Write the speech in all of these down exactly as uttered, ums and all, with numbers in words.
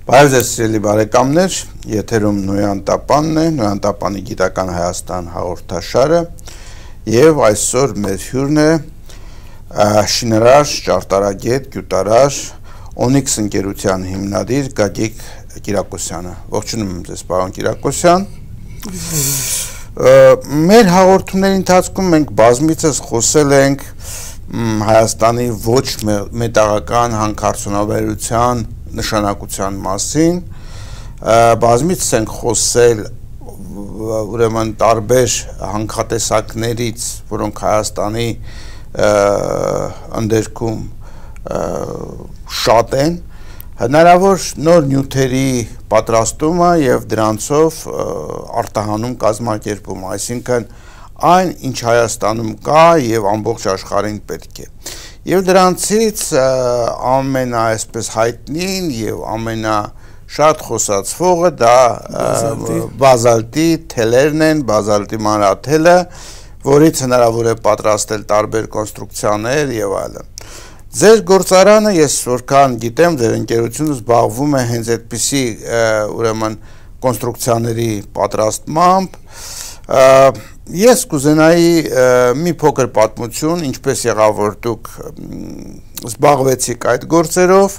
Բարև ձեզ սիրելի բարեկամներ, եթերում Նոյան Տապանն է, Նոյան Տապանի գիտական Հայաստան հաղորդաշարը եւ այսօր մեր հյուրն է շինարար, ճարտարագետ, գյուտարար, Օնիքս ընկերության հիմնադիր Գագիկ Կիրակոսյանը։ Ողջունում եմ ձեզ, պարոն Կիրակոսյան։ Մեր հաղորդումների ընթացքում մենք բազմիցս խոսել ենք Հայաստանի ոչ մետաղական հանքարդյունաբերության նշանակության մասին, բազմիցս ենք խոսել ուրեմն տարբեր հանքատեսակներից, որոնք Հայաստանի ընդերքում շատ են, հնարավոր նոր նյութերի պատրաստումը եւ դրանցով արտահանում կազմակերպումը, այսինքն այն, ինչ Հայաստանում կա եւ ամբողջ աշխարհին պետք է։ Եվ դրանցից ամենա այսպես հայտնին եւ ամենա շատ խոսացվողը դա բազալտի թելերն են, բազալտի մանրաթելը, որից հնարավոր է պատրաստել տարբեր կոնստրուկցիաներ եւ այլն։ Ձեր գործարանը, ես որքան գիտեմ, ձեր ընկերությունը զբաղվում է հենց այդպիսի ուրեմն կոնստրուկցիաների պատրաստմամբ։ Ես կուզենայի մի փոքր պատմություն, ինչպես եղավ, որ դուք զբաղվեցիք այդ գործերով,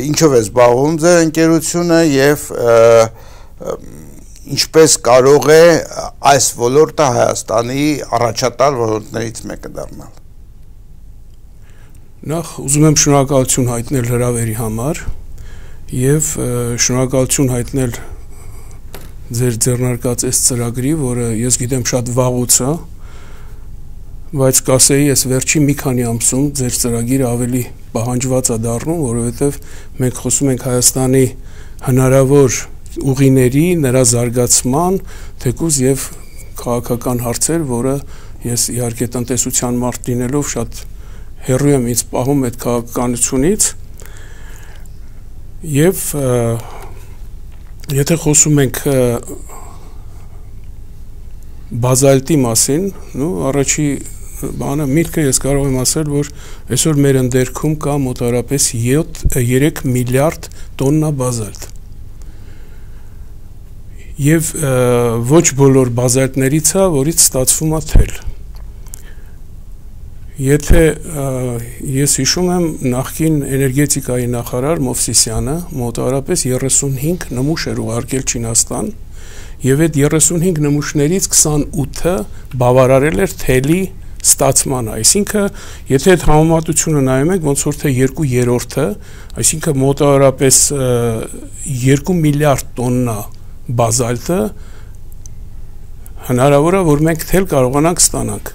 ինչով է զբաղվում ձեր ընկերությունը եւ ինչպես կարող է այս ոլորտը Հայաստանի առաջատար ոլորտներից մեկը դառնալ։ Նախ ուզում եմ շնորհակալություն հայտնել հրավերի համար եւ շնորհակալություն հայտնել ձեր ձեռնարկած այս ծրագրի, որը ես գիտեմ շատ վաղուց է, բայց կասեի ես վերջի մի քանի ամսում ձեր ծրագիրը ավելի պահանջված է դառնում, որովհետեւ մենք խոսում ենք Հայաստանի հնարավոր ուղիների, նրա զարգացման, թեկուզ եւ քաղաքական հարցեր, որը ես իհարկե տնտեսության մարդ լինելով շատ հեռու եմ ինձ պահում այդ քաղաքականությունից եւ եթե խոսում ենք բազալտի մասին, նու առաջի բանը միտքը ես կարող եմ ասել, որ այսօր մեր ընդերքում կա մոտավորապես երեք միլիարդ տոննա բազալտ։ Եվ ոչ բոլոր բազալտներից է, որից ստացվում է թել։ Եթե ես հիշում եմ նախկին էներգետիկայի նախարար Մովսիսյանը մոտավորապես երեսունհինգ նմուշ էր ուղարկել Չինաստան եւ այդ երեսունհինգ նմուշներից քսանութը բավարարել էր թելի ստացմանը, այսինքն եթե այդ համեմատությունը նայում եք ոնց որ թե երկու երրորդը, այսինքն մոտավորապես երկու միլիարդ տոննա բազալտը հնարավոր է որ մենք թել կարողանանք ստանանք։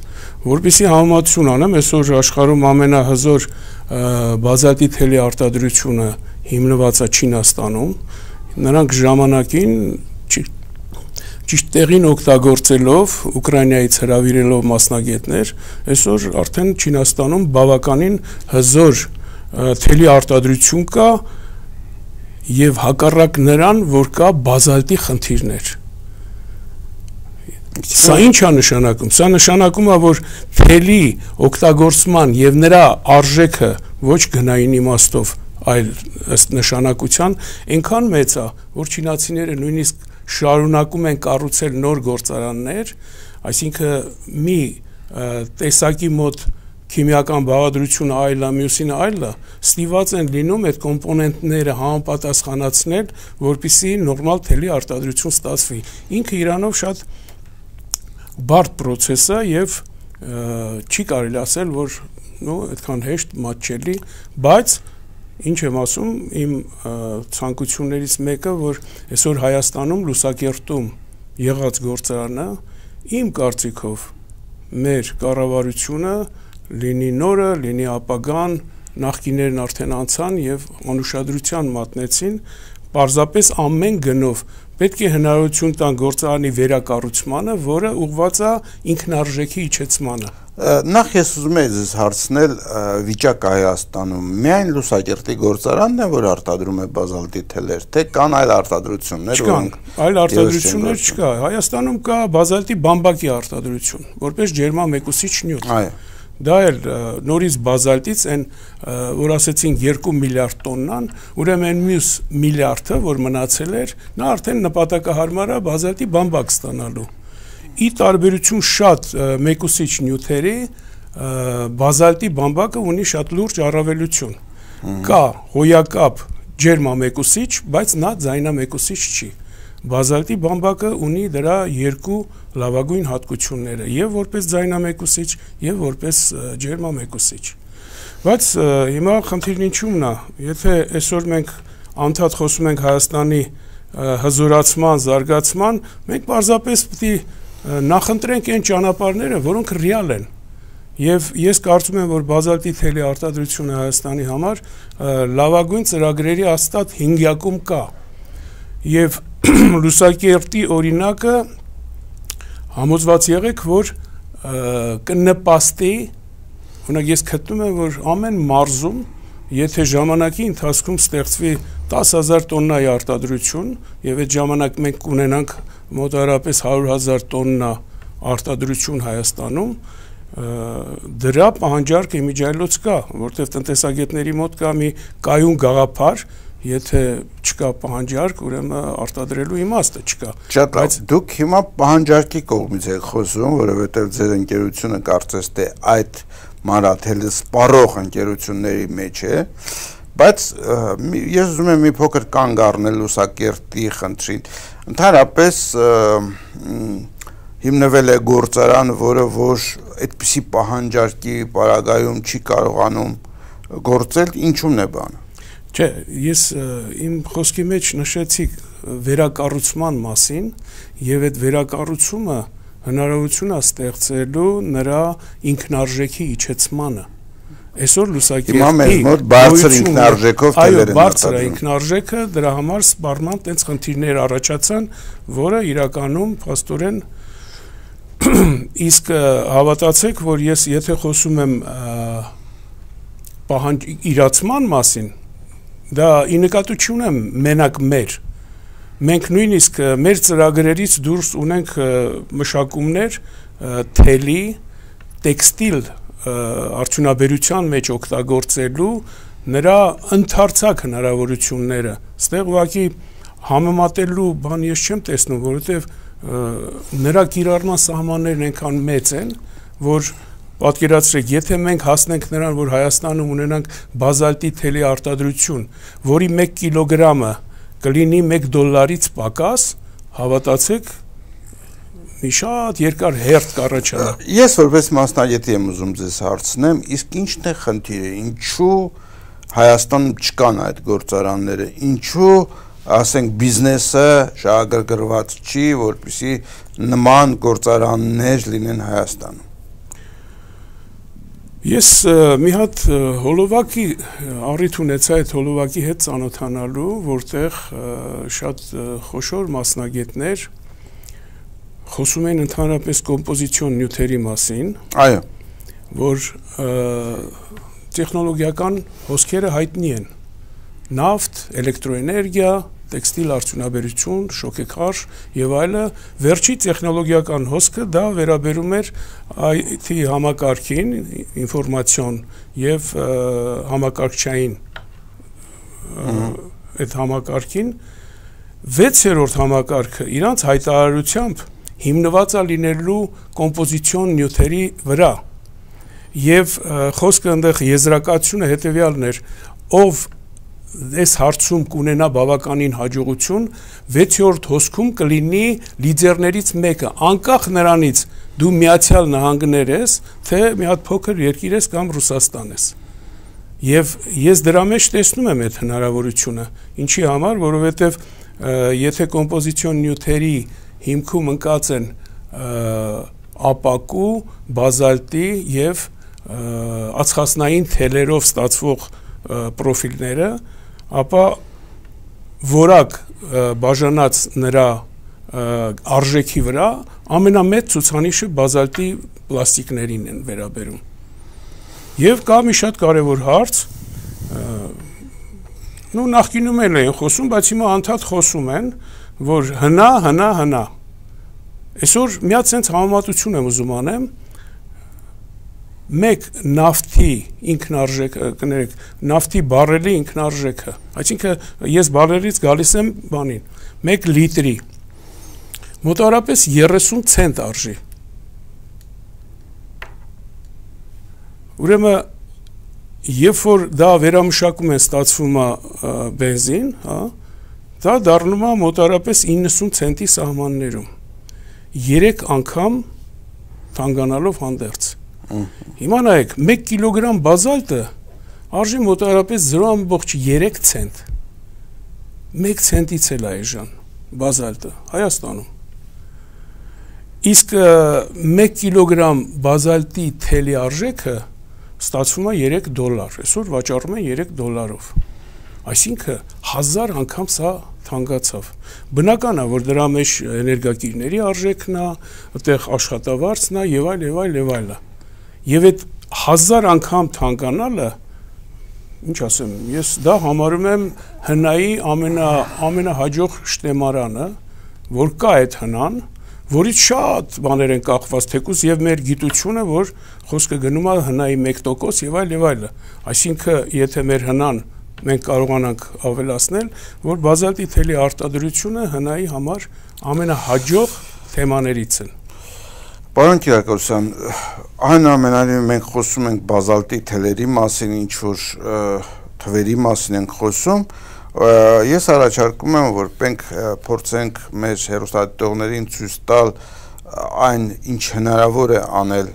Որպեսզի համեմատություն անեմ, այսօր աշխարհում ամենահզոր բազալտի թելի արտադրությունը հիմնված է Չինաստանում, նրանք ժամանակին ճիշտ տեղին օգտագործելով Ուկրաինայից հրավիրելով մասնագետներ, այսօր արդեն Չինաստանում բավականին հզոր թելի արտադրություն կա եւ հակառակ նրան, որ կա բազալտի խնդիրներ։ Սա ինչ է նշանակում։ Սա նշանակում է, որ թելի օգտագործման եւ նրա արժեքը ոչ գնային իմաստով, այլ ըստ նշանակության այնքան մեծ է, որ չինացիները նույնիսկ շարունակում են կառուցել նոր գործարաններ, այսինքն մի տեսակի մոտ քիմիական բաղադրությունը այլ է, մյուսինը այլ է, ստիված են լինում այդ կոմպոնենտները համապատասխանացնել, որպեսզի նորմալ թելի արտադրություն ստացվի։ Ինքը իրանով շատ բարդ process է եւ չի կարելի ասել, որ նո այդքան հեշտ մատչելի, բայց ինչ եմ ասում, իմ ցանկություններից մեկը, որ այսօր Հայաստանում լուսակերտում եղած գործարանը իմ կարծիքով մեր կառավարությունը լինի նորը, լինի ապագան, նախկիներն արդեն անցան եւ անուշադրության մատնեցին, պարզապես ամեն գնով պետք է հնարավորություն տան գործարանի վերակառուցմանը, որը ուղղված է ինքնարժեքի իջեցմանը։ Նախ ես ուզում եի ձեզ հարցնել վիճակը Հայաստանում, միայն լուսակերտի գործարանն է, որ արտադրում է բազալտի թելեր, թե կան այլ արտադրություններ, որոնք այլ արտադրություններ չկա։ Հայաստանում կա բազալտի բամբակի արտադրություն, որպես ջերմամեկուսիչ նյութ։ դա էլ նորից բազալտից այն որ ասեցին երկու միլիարդ տոննան, ուրեմն մյուս միլիարդը, որ մնացել էր, նա արդեն նպատակահարմար է բազալտի բամբակ ստանալու։ Ի տարբերություն շատ մեկուսիչ նյութերի, բազալտի բամբակը ունի շատ լուրջ առավելություն։ Կա հոյակապ ջերմամեկուսիչ, բայց նա ձայնամեկուսիչ չի։ Բազալտի բամբակը ունի դրա երկու լավագույն հատկությունները, եւ որպես ձայնամեկուսիչ, եւ որպես ջերմամեկուսիչ։ Բայց հիմա խնդիրն ինչումն է, եթե այսօր մենք անդադ խոսում ենք Հայաստանի հզորացման, զարգացման, մենք պարզապես պետք է նախընտրենք այն ճանապարհները, որոնք ռեալ են։ Եվ ես կարծում եմ, որ բազալտի թելի արտադրությունը Հայաստանի համար լավագույն ծրագրերի հաստատ հինգյակում կա։ Եվ Լուսակերտի օրինակը համոզված եղեք, որ կնպաստի, օրինակ ես գտնում եմ, որ ամեն մարզում, եթե ժամանակի ընթացքում ստեղծվի տասը հազար տոննայի արտադրություն, եւ այդ ժամանակ մենք կունենանք մոտավորապես հարյուր հազար տոննա արտադրություն Հայաստանում, դրա պահանջարկը իմիջիայլոց կա, որտեղ տնտեսագետների մոտ կա մի կայուն գաղափար, եթե չկա պահանջարկ, ուրեմն արտադրելու իմաստը չկա։ Շատ լավ, դուք հիմա պահանջարկի կողմից եք խոսում, որովհետև ձեր ընկերությունը կարծես թե այդ մանրաթելը սպառող ընկերությունների մեջ է, բայց ես ուզում եմ մի փոքր կանգ առնել Լուսակերտի խնդրին։ Ընդհանրապես հիմնվել է գործարան, որը որ այդպիսի պահանջարկի պարագայում չի կարողանում գործել, ինչու՞մն է բանը։ Չէ, ես իմ խոսքի մեջ նշեցի վերակառուցման մասին, եւ այդ վերակառուցումը հնարավորություն է ստեղծելու նրա ինքնարժեքի իջեցմանը։ Այսօր Լուսակերտի մոտ բարձր ինքնարժեքով այո, բարձր ինքնարժեքը, դրա համար սպառման տենց խնդիրներ առաջացան, որը իրականում փաստորեն իսկ հավատացեք, որ ես եթե խոսում եմ պահանջ իրացման մասին, դա ի նկատի չունեմ մենակ մեր։ Մենք նույնիսկ մեր ծրագրերից դուրս ունենք մշակումներ թելի, տեքստիլ արդյունաբերության մեջ օգտագործելու նրա ընդարձակ հնարավորությունները։ Ստեղ ուղղակի համեմատելու բան ես չեմ տեսնում, որովհետև նրա կիրառման սահմաններն այնքան մեծ են, որ պատկերացրեք, եթե մենք հասնենք նրան, որ Հայաստանում ունենանք բազալտի թելի արտադրություն, որի մեկ կիլոգրամը կլինի մեկ դոլարից պակաս, հավատացեք, մի շատ երկար հերթ կառաջանա։ Ես որպես մասնագետ եմ ուզում ձեզ հարցնեմ, իսկ ի՞նչն է խնդիրը, ինչու Հայաստանում չկան այդ գործարանները, ինչու ասենք բիզնեսը շահագրգռված չի, որպեսզի նման գործարաններ լինեն Հայաստանում։ Ես մի հատ հոլովակի առիթ ունեցա այդ հոլովակի հետ ծանոթանալու, որտեղ շատ խոշոր մասնագետներ խոսում են ընդհանրապես կոմպոզիցիոն նյութերի մասին, այո, որ տեխնոլոգիական հոսքերը հայտնի են, նավթ, էլեկտրոէներգիա, տեքստիլ արդյունաբերություն, շոկեքարշ եւ այլը, վերջի տեխնոլոգիական հոսքը դա վերաբերում էր այ թի համակարգին, ինֆորմացիոն եւ համակարգչային այդ համակարգին, վեցերորդ համակարգը իրանց հայտարարությամբ հիմնված է լինելու կոմպոզիցիոն նյութերի վրա եւ խոսքը այնտեղ եզրակացությունը հետեւյալն էր, ով այս հարցում կունենա բավականին հաջողություն, վեցերորդ հոսքում կլինի լիդերներից մեկը, անկախ նրանից դու Միացյալ Նահանգներ ես, թե մի հատ փոքր երկիր ես կամ Ռուսաստան ես։ Եվ ես դրա մեջ տեսնում եմ այդ հնարավորությունը, ինչի համար, որովհետև եթե կոմպոզիցիոն նյութերի հիմքում ընկած են ապակու, բազալտի եւ ածխածնային թելերով ստացվող պրոֆիլները, ապա որակ բաժանած նրա արժեքի վրա ամենամեծ ցուցանիշը բազալտի պլաստիկներին են վերաբերում։ Եվ կա մի շատ կարևոր հարց, նու նախկինում էլ են խոսում, բայց հիմա անդադ խոսում են, որ հնա, հնա, հնա։ Այսօր միած sense համեմատություն եմ ուզում անեմ, մեկ նավթի ինքնարժեքը, կներեք, նավթի բարելի ինքնարժեքը, այսինքն ես բարելից գալիս եմ բանին, մեկ լիտրի մոտավորապես երեսուն ցենտ արժի։ Ուրեմն երբ որ դա վերամշակում են ստացվում է բենզին, հա, դա դառնում է մոտավորապես իննսուն ցենտի սահմաններում։ երեք անգամ թանկանալով հանդերձ։ Հիմա նայեք, մեկ կիլոգրամ բազալտը արժի մոտավորապես զրո ամբողջ երեք ցենտ։ մեկ ցենտից էլ է այժմ բազալտը Հայաստանում։ Իսկ մեկ կիլոգրամ բազալտի թելի արժեքը ստացվում է երեք դոլար, այսօր վաճառում են երեք դոլարով։ Այսինքն հազար անգամ սա թանկացավ։ Բնական է, որ դրա մեջ էներգակիրների արժեքն է, այդտեղ աշխատավարձն է եւ այլ եւ այլ եւ այլ։ Եվ այդ հազար անգամ թանկանալը, ինչ ասեմ, ես դա համարում եմ հնայի ամենա ամենահաջող շտեմարանը, որ կա այդ հնան, որից շատ բաներ են կախված, թեկուզ եւ մեր գիտությունը, որ խոսքը գնում է հնայի մեկ տոկոս եւ այլ եւ այլը։ Այսինքն, եթե մեր հնան մենք կարողանանք ավելացնել, որ բազալտի թելի արտադրությունը հնայի համար ամենահաջող թեմաներից են։ Պարոն Կիրակոսյան, այնուամենայնիվ մենք խոսում ենք բազալտի թելերի մասին, ինչ որ թվերի մասին ենք խոսում, ես առաջարկում եմ, որ մենք փորձենք մեր հեռուստադիտողներին ցույց տալ այն, ինչ հնարավոր է անել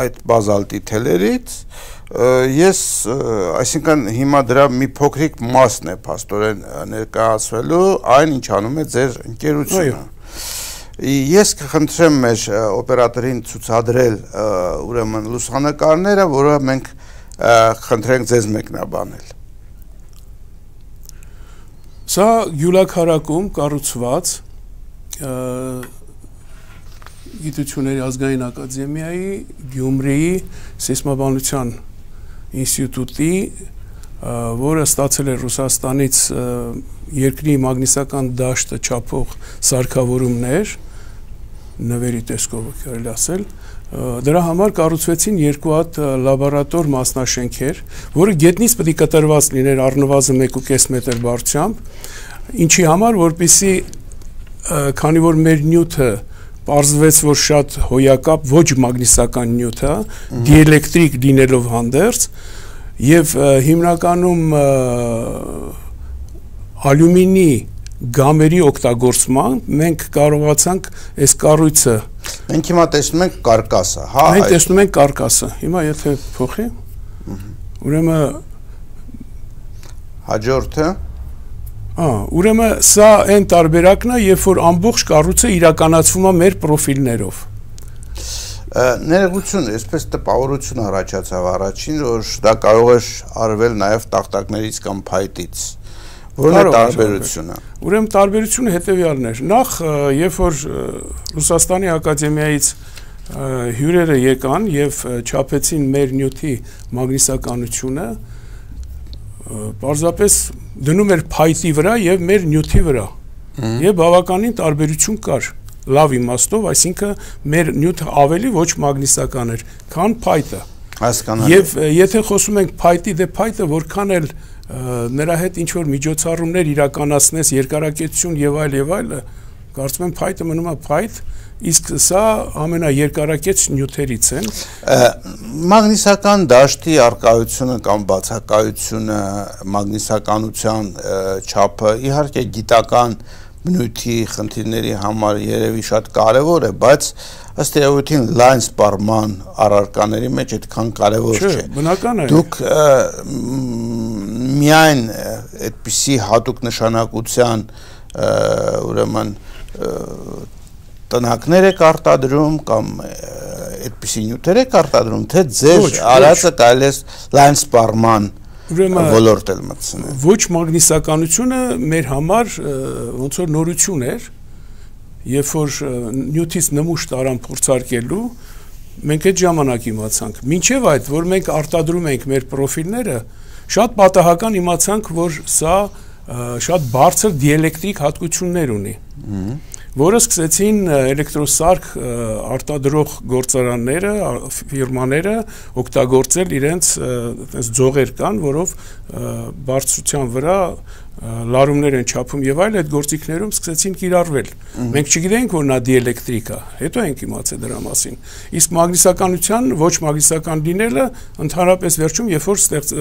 այդ բազալտի թելերից, ես, այսինքն հիմա դրա մի փոքրիկ մասն է փաստորեն ներկայացվելու այն, ինչ անում է ձեր ընկերությունը։ Ես կխնդրեմ մեր օպերատորին ցուցադրել ուրեմն լուսանկարները, որը մենք խնդրենք ձեզ մեկնաբանել։ Սա Գյուլաքարակում կառուցված Գիտությունների ազգային ակադեմիայի Գյումրիի սեյսմաբանության ինստիտուտի, որը ստացել է Ռուսաստանից երկրի մագնիսական դաշտը չափող սարքավորումներ, նվերի տեսքով կարելի ասել, դրա համար կառուցվեցին երկու հատ լաբորատոր մասնաշենքեր, որը գետնից պետք է կտրված լիներ առնվազն մեկ ու կես մետր բարձրությամբ, ինչի համար, որպեսզի քանի որ մեր նյութը պարզվեց, որ շատ հոյակապ ոչ մագնիսական նյութ է, դիէլեկտրիկ լինելով հանդերձ, եւ հիմնականում ալյումինի գամերի օգտագործման մենք կարողացանք այս կառույցը մենք հիմա տեսնում ենք կարկասը, հա, մենք տեսնում ենք կարկասը։ Հիմա եթե փոխի, ուրեմն հաջորդը, հա, ուրեմն սա այն տարբերակն է, երբ որ ամբողջ կառույցը իրականացվում է մեր պրոֆիլներով։ Ներողություն, այսպես տպավորություն առաջացավ առաջին, որ դա կարող է արվել նաև տախտակներից կամ փայտից։ Որն է տարբերությունը։ Ուրեմն տարբերությունը հետևյալն էր։ Նախ, երբ որ Ռուսաստանի ակադեմիայից հյուրերը եկան եւ չափեցին մեր նյութի մագնիսականությունը, պարզապես դնում էր փայտի վրա եւ մեր նյութի վրա։ Եվ բավականին տարբերություն կար։ Լավ իմաստով, այսինքն մեր նյութը ավելի ոչ մագնիսական էր, քան փայտը։ Հասկանալի։ Եվ եթե խոսում ենք փայտի, դե փայտը որքան էլ նրա հետ ինչ որ միջոցառումներ իրականացնես, երկարակեցություն եւ այլ եւ այլը, կարծում եմ փայտը մնում է փայտ, իսկ սա ամենաերկարակեց նյութերից են։ Մագնիսական դաշտի արկայությունը կամ բացակայությունը, մագնիսականության չափը իհարկե գիտական բնույթի խնդիրների համար երևի շատ կարևոր է, բայց ըստ էության լայն սպառման առարկաների մեջ այդքան կարևոր չէ։ Բնական է։ Դուք միայն այդպիսի հատուկ նշանակության ուրեմն տնակներ եք արտադրում կամ այդպիսի նյութեր եք արտադրում, թե ձեր արածը կարելի է լայն սպառման ոլորտ էլ մտցնել։ Ոչ մագնիսականությունը մեր համար ոնց որ նորություն էր, երբ որ նյութից նմուշ տարան փորձարկելու, մենք այդ ժամանակ իմացանք։ Մինչև այդ, որ մենք արտադրում ենք մեր պրոֆիլները, շատ պատահական իմացանք, որ սա շատ բարձր դիէլեկտրիկ հատկություններ ունի։ որը սկսեցին էլեկտրոսարք արտադրող գործարանները, ֆիրմաները օգտագործել իրենց այդպես ձողեր կան, որով բարձրության վրա լարումներ են չափում եւ այլ, այդ գործիքներում սկսեցին կիրառվել։ Մենք չգիտենք, որ նա դիէլեկտրիկ է, հետո ենք իմացել դրա մասին։ Իսկ մագնիսականության ոչ մագնիսական լինելը ընդհանրապես վերջում երբ որ ստեղծ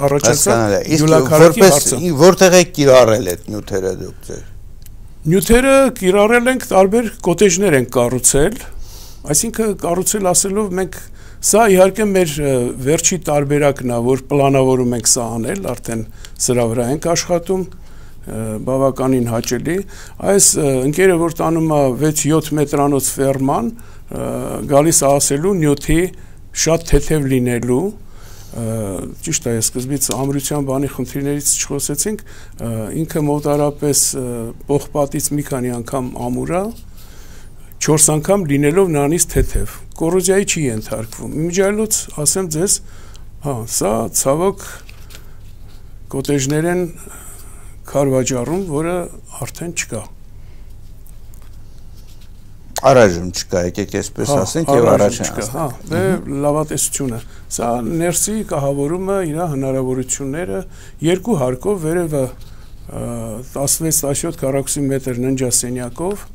առաջացավ յուլաքարակի հարցը։ Որտեղ է կիրառել այդ նյութերը դուք ձեր։ Նյութերը կիրառել ենք տարբեր կոտեջներ ենք կառուցել, այսինքն կառուցել ասելով մենք սա իհարկե մեր վերջի տարբերակն է, որ պլանավորում ենք սա անել, արդեն սրա վրա ենք աշխատում, բավականին հաճելի։ Այս ընկերը, որ տանում է վեց-յոթ մետրանոց ֆերման, գալիս է ասելու նյութի շատ թեթև լինելու, ճիշտ է, սկզբից ամրության բանի խնդիրներից չխոսեցինք, ինքը մոտարապես պողպատից մի քանի անգամ ամուր է, չորս անգամ լինելով նրանից թեթև, կոռոզիայի չի ենթարկվում։ Իմիջիայլոց ասեմ ձեզ, հա, սա ցավոք կոտեջներ են քարվաճառում, որը արդեն չկա։ Առայժմ չկա, եկեք այսպես ասենք եւ առաջին չկա, հա, դե լավատեսությունը։ Սա ներսի կահավորումը իր հնարավորությունները երկու հարկով վերևը տասնվեց տասնյոթ քառակուսի մետր ննջասենյակով։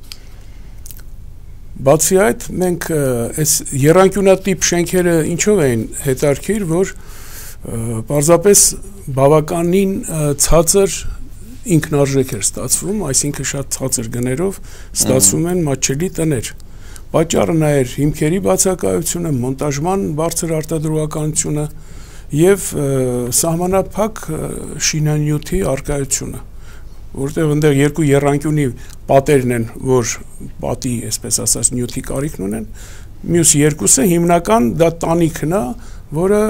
Բացի այդ, մենք այս եռանկյունատիպ շենքերը ինչով էին հետարքիր, որ պարզապես բավականին ցածր ինքնարժեք էր ստացվում, այսինքն շատ ցածր գներով ստացվում են մատչելի տներ։ Պատճառը նա էր հիմքերի բացակայությունը, մոնտաժման բարձր արտադրողականությունը եւ սահմանափակ շինանյութի արկայությունը, որտեղ այնտեղ երկու եռանկյունի պատերն են, որ պատի, այսպես ասած, նյութի կարիքն ունեն, մյուս երկուսը հիմնական դա տանիքն է, որը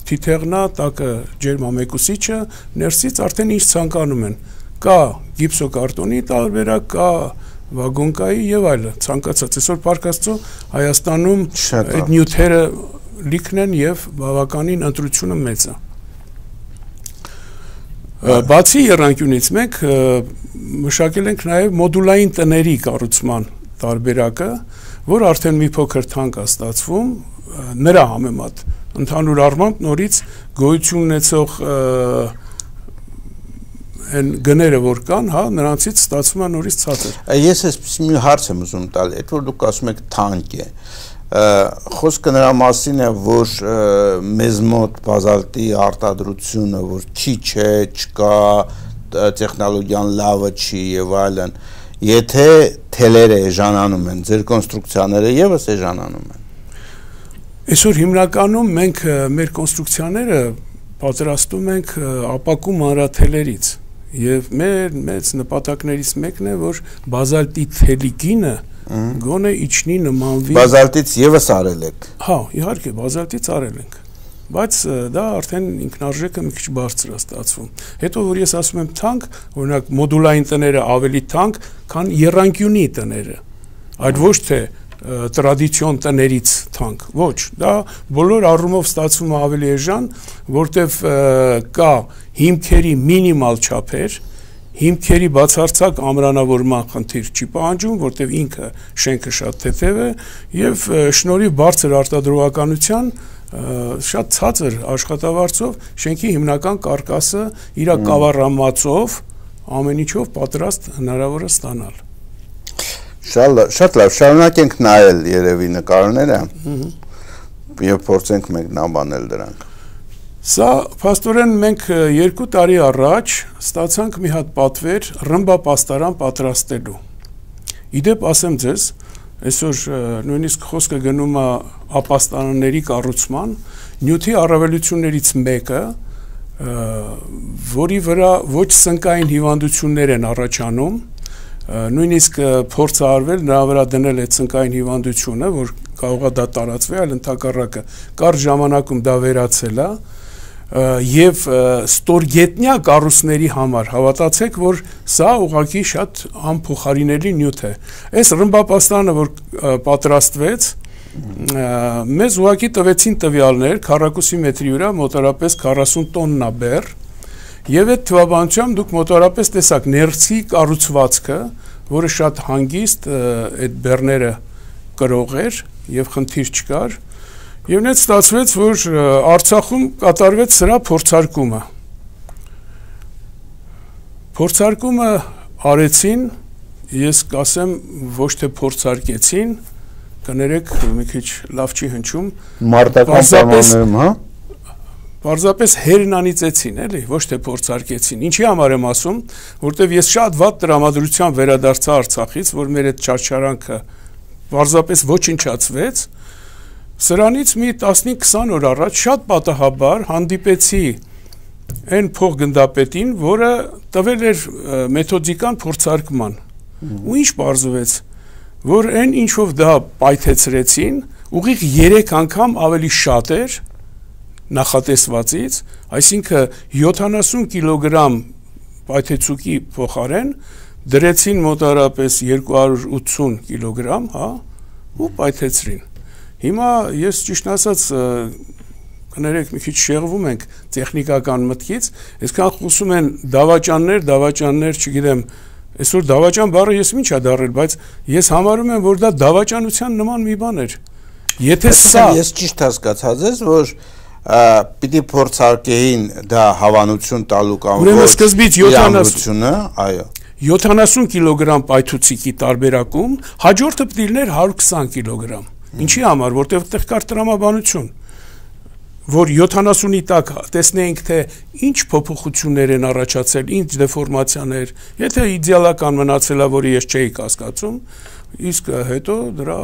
թիթեղնա, տակը ջերմամեկուսիչը, ներսից արդեն ինչ ցանկանում են։ Կա գիպսոկարտոնի տարբերակ, կա վագոնկայի եւ այլը, ցանկացած։ Այսօր Պարկաստո Հայաստանում այդ նյութերը լիքն են եւ բավականին ընտրությունը մեծ է։ Բացի եռանկյունից մենք մշակել ենք նաեւ մոդուլային տների կառուցման տարբերակը, որ արդեն մի փոքր թանկ է ստացվում նրա համեմատ ընդհանուր առմամբ նորից գոյություն ունեցող այն գները որ կան, հա, նրանցից ստացվում է նորից ցածր։ Ես այսպես մի հարց եմ ուզում տալ, այդ որ դուք ասում եք թանկ է։ Խոսքը նրա մասին է, որ մեզ մոտ բազալտի արտադրությունը, որ չի չէ, չկա, տեխնոլոգիան լավը չի եւ այլն, եթե թելերը էժանանում են, ձեր կոնստրուկցիաները եւս էժանանում են։ Այսօր հիմնականում մենք մեր կոնստրուկցիաները պատրաստում ենք ապակու մանրաթելերից եւ մեր մեծ նպատակներից մեկն է, որ բազալտի թելի գինը գոնե իջնի նմանվի։ Բազալտից եւս արել եք։ Հա, իհարկե, բազալտից արել ենք, բայց դա արդեն ինքնարժեքը մի քիչ բարձր է ստացվում։ Հետո որ ես ասում եմ թանկ, օրինակ մոդուլային տները ավելի թանկ, քան եռանկյունի տները, այլ ոչ թե տրադիցիոն տներից թանկ, ոչ, դա բոլոր առումով ստացվում է ավելի էժան, որտեվ կա հիմքերի մինիմալ չափեր, հիմքերի բացարձակ ամրանավորման խնդիր չի պահանջում, որտեվ ինքը շենքը շատ թեթև է եւ շնորհիվ բարձր արտադրողականության շատ ցածր աշխատավարձով շենքի հիմնական կարկասը իր կավառամածով ամեն ինչով պատրաստ հնարավոր է ստանալ։ Շատ լավ, շարունակենք նայել երևի նկարները եւ փորձենք մեկնաբանել դրանք։ Սա փաստորեն մենք երկու տարի առաջ ստացանք մի հատ պատվեր ռմբապաստարան պատրաստելու։ Իդեպ ասեմ ձեզ, այսօր նույնիսկ խոսքը գնում է ապաստարանների կառուցման, նյութի առավելություններից մեկը, որի վրա ոչ սնկային հիվանդություններ են առաջանում, նույնիսկ փորձ է արվել նրա վրա դնել այդ սնկային հիվանդությունը, որ կարող է դա տարածվի, այլ ընդհակառակը կարճ ժամանակում դա վերացել է եւ ստորգետնյա կառույցների համար հավատացեք, որ սա ուղղակի շատ անփոխարինելի նյութ է։ Այս ռմբապաստանը, որ պատրաստվեց, մեզ ուղղակի տվեցին տվյալներ քառակուսի մետրի վրա մոտավորապես քառասուն տոննա բեռ, եւ այդ թվաբանությամբ դուք մոտավորապես տեսակ ներսի կառուցվածքը որը շատ հանգիստ այդ բեռները կրող էր եւ խնդիր չկար եւ նույնիսկ ստացվեց որ Արցախում կատարվեց սրա փորձարկումը փորձարկումը արեցին ես կասեմ ոչ թե փորձարկեցին կներեք մի քիչ լավ չի հնչում մարտական պայմաններում հա Պարզապես հերնանիծեցին, էլի, ոչ թե փորձարկեցին։ Ինչի համար եմ ասում, որտեվ ես շատ վատ տրամադրությամբ վերադարձա Արցախից, որ մեր այդ չարչարանքը պարզապես ոչնչացվեց, սրանից մի տասնհինգ քսան օր առաջ շատ պատահաբար հանդիպեցի այն փոխգնդապետին, որը տվել էր մեթոդիկան փորձարկման։ Ու ինչ պարզվեց, որ այն ինչով դա պայթեցրեցին, ուղիղ երեք անգամ ավելի շատ էր նախատեսվածից, այսինքն յոթանասուն կիլոգրամ պայթեցուկի փոխարեն դրեցին մոտարապես երկու հարյուր ութսուն կիլոգրամ, հա, ու պայթեցրին։ Հիմա ես ճիշտ ասած կներեք մի քիչ շեղվում ենք տեխնիկական մտքից, այսքան խոսում են դավաճաններ, դավաճաններ, չգիտեմ, այսօր դավաճան բառը ես ինչ ա դառել, բայց ես համարում եմ, որ դա դավաճանության նման մի բան էր։ Եթե սա ես ճիշտ հասկացած ես, որ պիտի փորձարկեին դա հավանություն տալու կամ ոչ սկզբից յոթանասուն, այո յոթանասուն կիլոգրամ պայթուցիկի տարբերակում հաջորդը պիտի լիներ հարյուր քսան կիլոգրամ։ Ինչի համար, որտեղ այդտեղ կար տրամաբանություն, որ յոթանասունի տակ տեսնեինք թե ինչ փոփոխություններ են առաջացել, ինչ դեֆորմացիաներ, եթե իդեալական մնացել է, որը ես չէի կասկածում, իսկ հետո դրա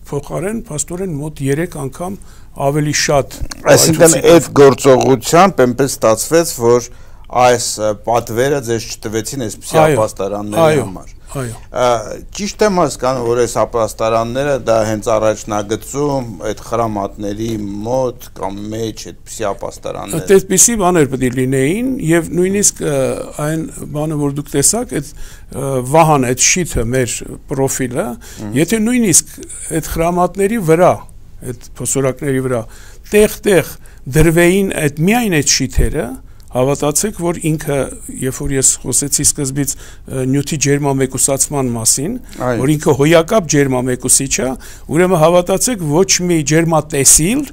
փոխարեն փաստորեն մոտ երեք անգամ ավելի շատ այսինքն այդ գործողությամբ այնպես ստացվեց որ այս պատվերը ձեզ չտվեցին այսպիսի ապաստարանների համար այո ճիշտ եմ հասկանում որ այս ապաստարանները դա հենց առաջնագծում այդ խրամատների մոտ կամ մեջ այդպիսի ապաստարաններ այդպիսի բաներ պետք է լինեին եւ նույնիսկ այն բանը որ դուք տեսաք այդ վահան այդ շիթը մեր պրոֆիլը եթե նույնիսկ այդ խրամատների վրա այդ փոսորակների վրա տեղ-տեղ դրվեին այդ միայն այդ շիթերը հավատացեք որ ինքը երբ որ ես խոսեցի սկզբից նյութի ջերմամեկուսացման մասին որ ինքը հոյակապ ջերմամեկուսիչ է ուրեմն հավատացեք ոչ մի ջերմատեսիլ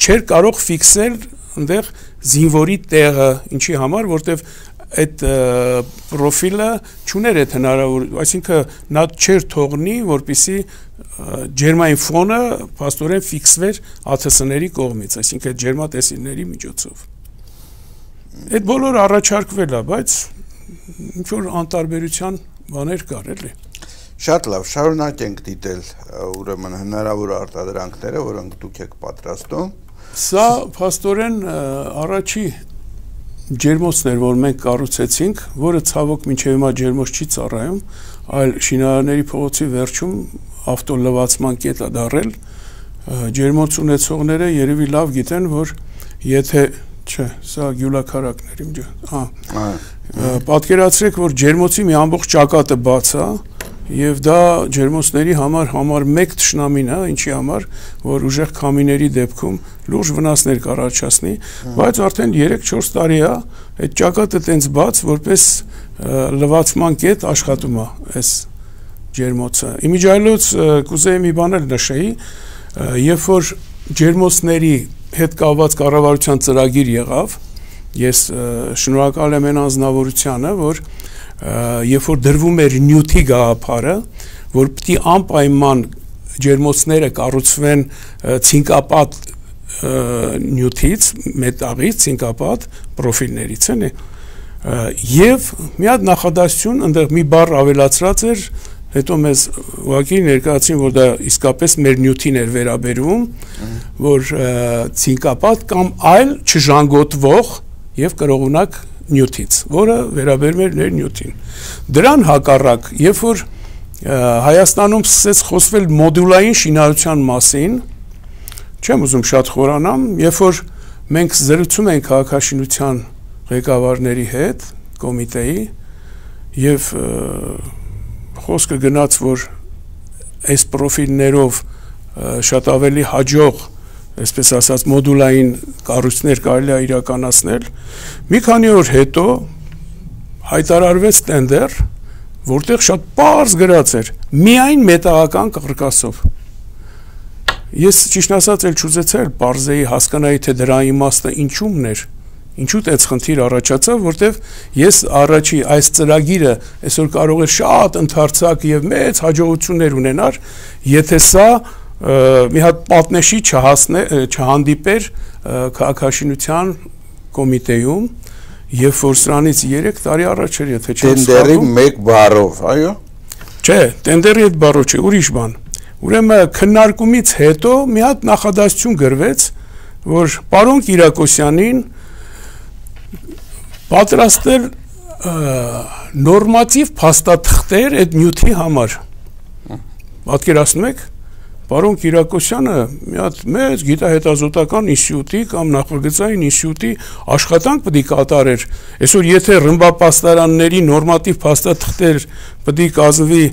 չէր կարող ֆիքսել այնտեղ զինվորի տեղը ինչի համար որտեվ այդ պրոֆիլը չուներ այդ հնարավոր այսինքն նա չէր թողնի որպեսի ջերմային ֆոնը փաստորեն ֆիքսվեր ԱԹՍ-ների կողմից այսինքն ջերմատեսիլների միջոցով այդ բոլորը առաջարկվել է բայց ինչ որ անտարբերության բաներ կար էլի շատ լավ շարունակենք դիտել ուրեմն հնարավոր արտադրանքները որոնք դուք եք պատրաստում սա փաստորեն առաջի ջերմոցն էր որ մենք կառուցեցինք որը ցավոք մինչև հիմա ջերմոց չի ծառայում այլ շինարարների փողոցի վերջում ավտոլվացման կետ է դարել ջերմոց ունեցողները երևի լավ գիտեն որ եթե չէ սա գյուլաքարակներ իմ ջան հա պատկերացրեք որ ջերմոցի մի ամբողջ ճակատը բաց է եւ դա ջերմոցների համար համար մեկ թշնամին է ինչի համար որ ուժեղ քամիների դեպքում լուրջ վնասներ կառաջացնի բայց արդեն երեք չորս տարի է այդ ճակատը տենց բաց որպես լվացման կետ աշխատում է այս ջերմոցը իմիջիայլոց կուզեի մի բան էլ նշեի երբ որ ջերմոցների հետ կապված կառավարության ծրագիր եղավ ես շնորհակալ եմ այն անձնավորությանը որ երբ որ դրվում էր նյութի գաղափարը որ պիտի անպայման ջերմոցները կառուցվեն ցինկապատ նյութից մետաղից ցինկապատ պրոֆիլներից էլի եւ մի հատ նախադասություն այնտեղ մի բառ ավելացրած էր հետո մեզ ուղղակի ներկայացին որ դա իսկապես մեր նյութին էր վերաբերվում որ ցինկապատ կամ այլ չժանգոտվող եւ կրողունակ նյութից որը վերաբերում էր մեր նյութին դրան հակառակ երբ որ Հայաստանում սկսեց խոսվել մոդուլային շինարարության մասին չեմ ուզում շատ խորանամ երբ որ մենք զրուցում ենք քաղաքաշինության ղեկավարների հետ կոմիտեի եւ խոսքը գնաց որ այս պրոֆիլներով շատ ավելի հաջող այսպես ասած մոդուլային կառույցներ կարելի է իրականացնել մի քանի օր հետո հայտարարվեց տենդեր որտեղ շատ պարզ գրած էր միայն մետաղական կռկասով։ Ես ճիշտ ասած էլ չուզեցել բարձեի հասկանայի թե դրա իմաստը ինչումն էր, ինչու տենց խնդիր առաջացավ, որտեղ ես առաջի այս ծրագիրը այսօր կարող էր շատ ընդարձակ եւ մեծ հաջողություններ ունենար, եթե սա մի հատ պատնեշի չհասնե չհանդիպեր քաղաքաշինության կոմիտեում, եւ որ սրանից երեք տարի առաջ էր, եթե չեմ սխալվում։ Տենդերի մեկ բառով, այո։ Չէ, տենդերի այդ բառով չէ, ուրիշ բան։ Ուրեմն քննարկումից հետո մի հատ նախադասություն գրվեց, որ պարոն Կիրակոսյանին պատրաստել նորմատիվ փաստաթղթեր այդ նյութի համար։ Պատկերացնում եք, պարոն Կիրակոսյանը մի հատ մեծ գիտահետազոտական ինստիտուտի կամ նախագծային ինստիտուտի աշխատանք պետք է կատարեր։ Այսօր եթե ռմբապաստարանների նորմատիվ փաստաթղթեր պետք է կազմվի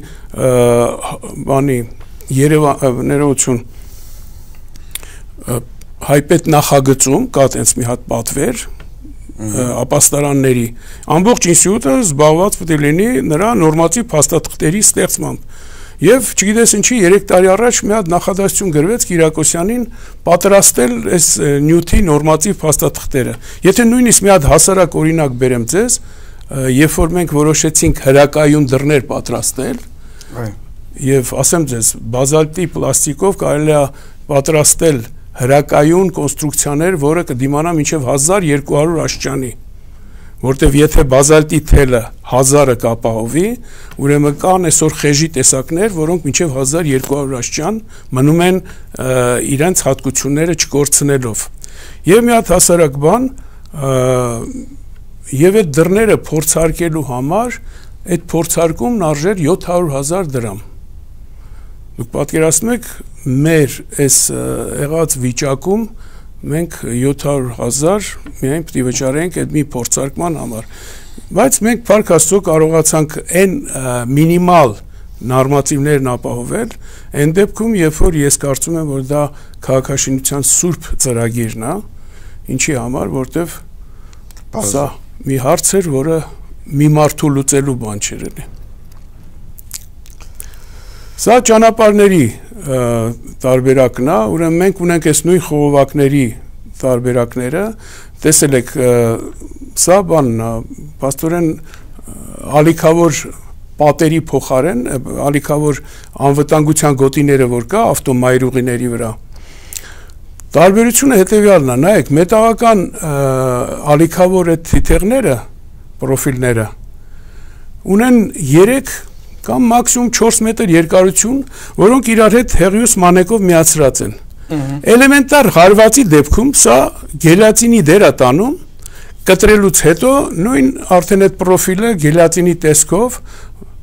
բանի Երևան ներողություն հայպետ նախագծում կա տենց մի հատ պատվեր ապաստարանների ամբողջ ինստիտուտը զբաղված պետք է լինի նրա նորմատիվ փաստաթղթերի ստեղծմամբ։ Եվ չգիտես ինչի երեք տարի առաջ մի հատ նախադասություն գրվեց Կիրակոսյանին պատրաստել այս նյութի նորմատիվ փաստաթղթերը։ Եթե նույնիսկ մի հատ հասարակ օրինակ բերեմ ձեզ, երբ որ մենք որոշեցինք հրակայուն դռներ պատրաստել, եւ ասեմ ձեզ, բազալտի պլաստիկով կարելի է պատրաստել հրակայուն կոնստրուկցիաներ, որը կդիմանա մինչև հազար երկու հարյուր աշճանի, որտեվ եթե բազալտի թելը հազարը կապահովի, ուրեմն կան այսօր խեժի տեսակներ, որոնք մինչև հազար երկու հարյուր աշճան մնում են իրենց հատկությունները չկորցնելով։ Եվ մի հատ հասարակ բան, եւ այդ դռները փորձարկելու համար այդ փորձարկումն արժեր յոթ հարյուր հազար դրամ։ Դուք պատկերացնում եք, մեր այս եղած վիճակում մենք յոթ հարյուր հազար միայն պետք է վճարենք այդ մի փորձարկման համար։ Բայց մենք փառք Աստծո կարողացանք այն մինիմալ նորմատիվներն ապահովել, այն դեպքում, երբ որ ես կարծում եմ, որ դա քաղաքաշինության սուրբ ծրագիրն է, ինչի համար, որտեվ սա մի հարց էր, որը մի մարդու լուծելու բան չէր էլի։ Սա ճանապարհների տարբերակն է, ուրեմն մենք ունենք այս նույն խողովակների տարբերակները, տեսել եք, սա բանն է, փաստորեն ալիքավոր պատերի փոխարեն, ալիքավոր անվտանգության գոտիները որ կա ավտոմայրուղիների վրա։ Տարբերությունը հետևյալն է, նայեք, մետաղական ալիքավոր այդ թիթեղները, պրոֆիլները ունեն երեք կամ մաքսիմում չորս մետր երկարություն, որոնք իրար հետ հեղիուս մանեկով միացրած են։ Էլեմենտար հարվածի դեպքում սա գելատինի դեր է տանում, կտրելուց հետո նույն արդեն այդ պրոֆիլը գելատինի տեսքով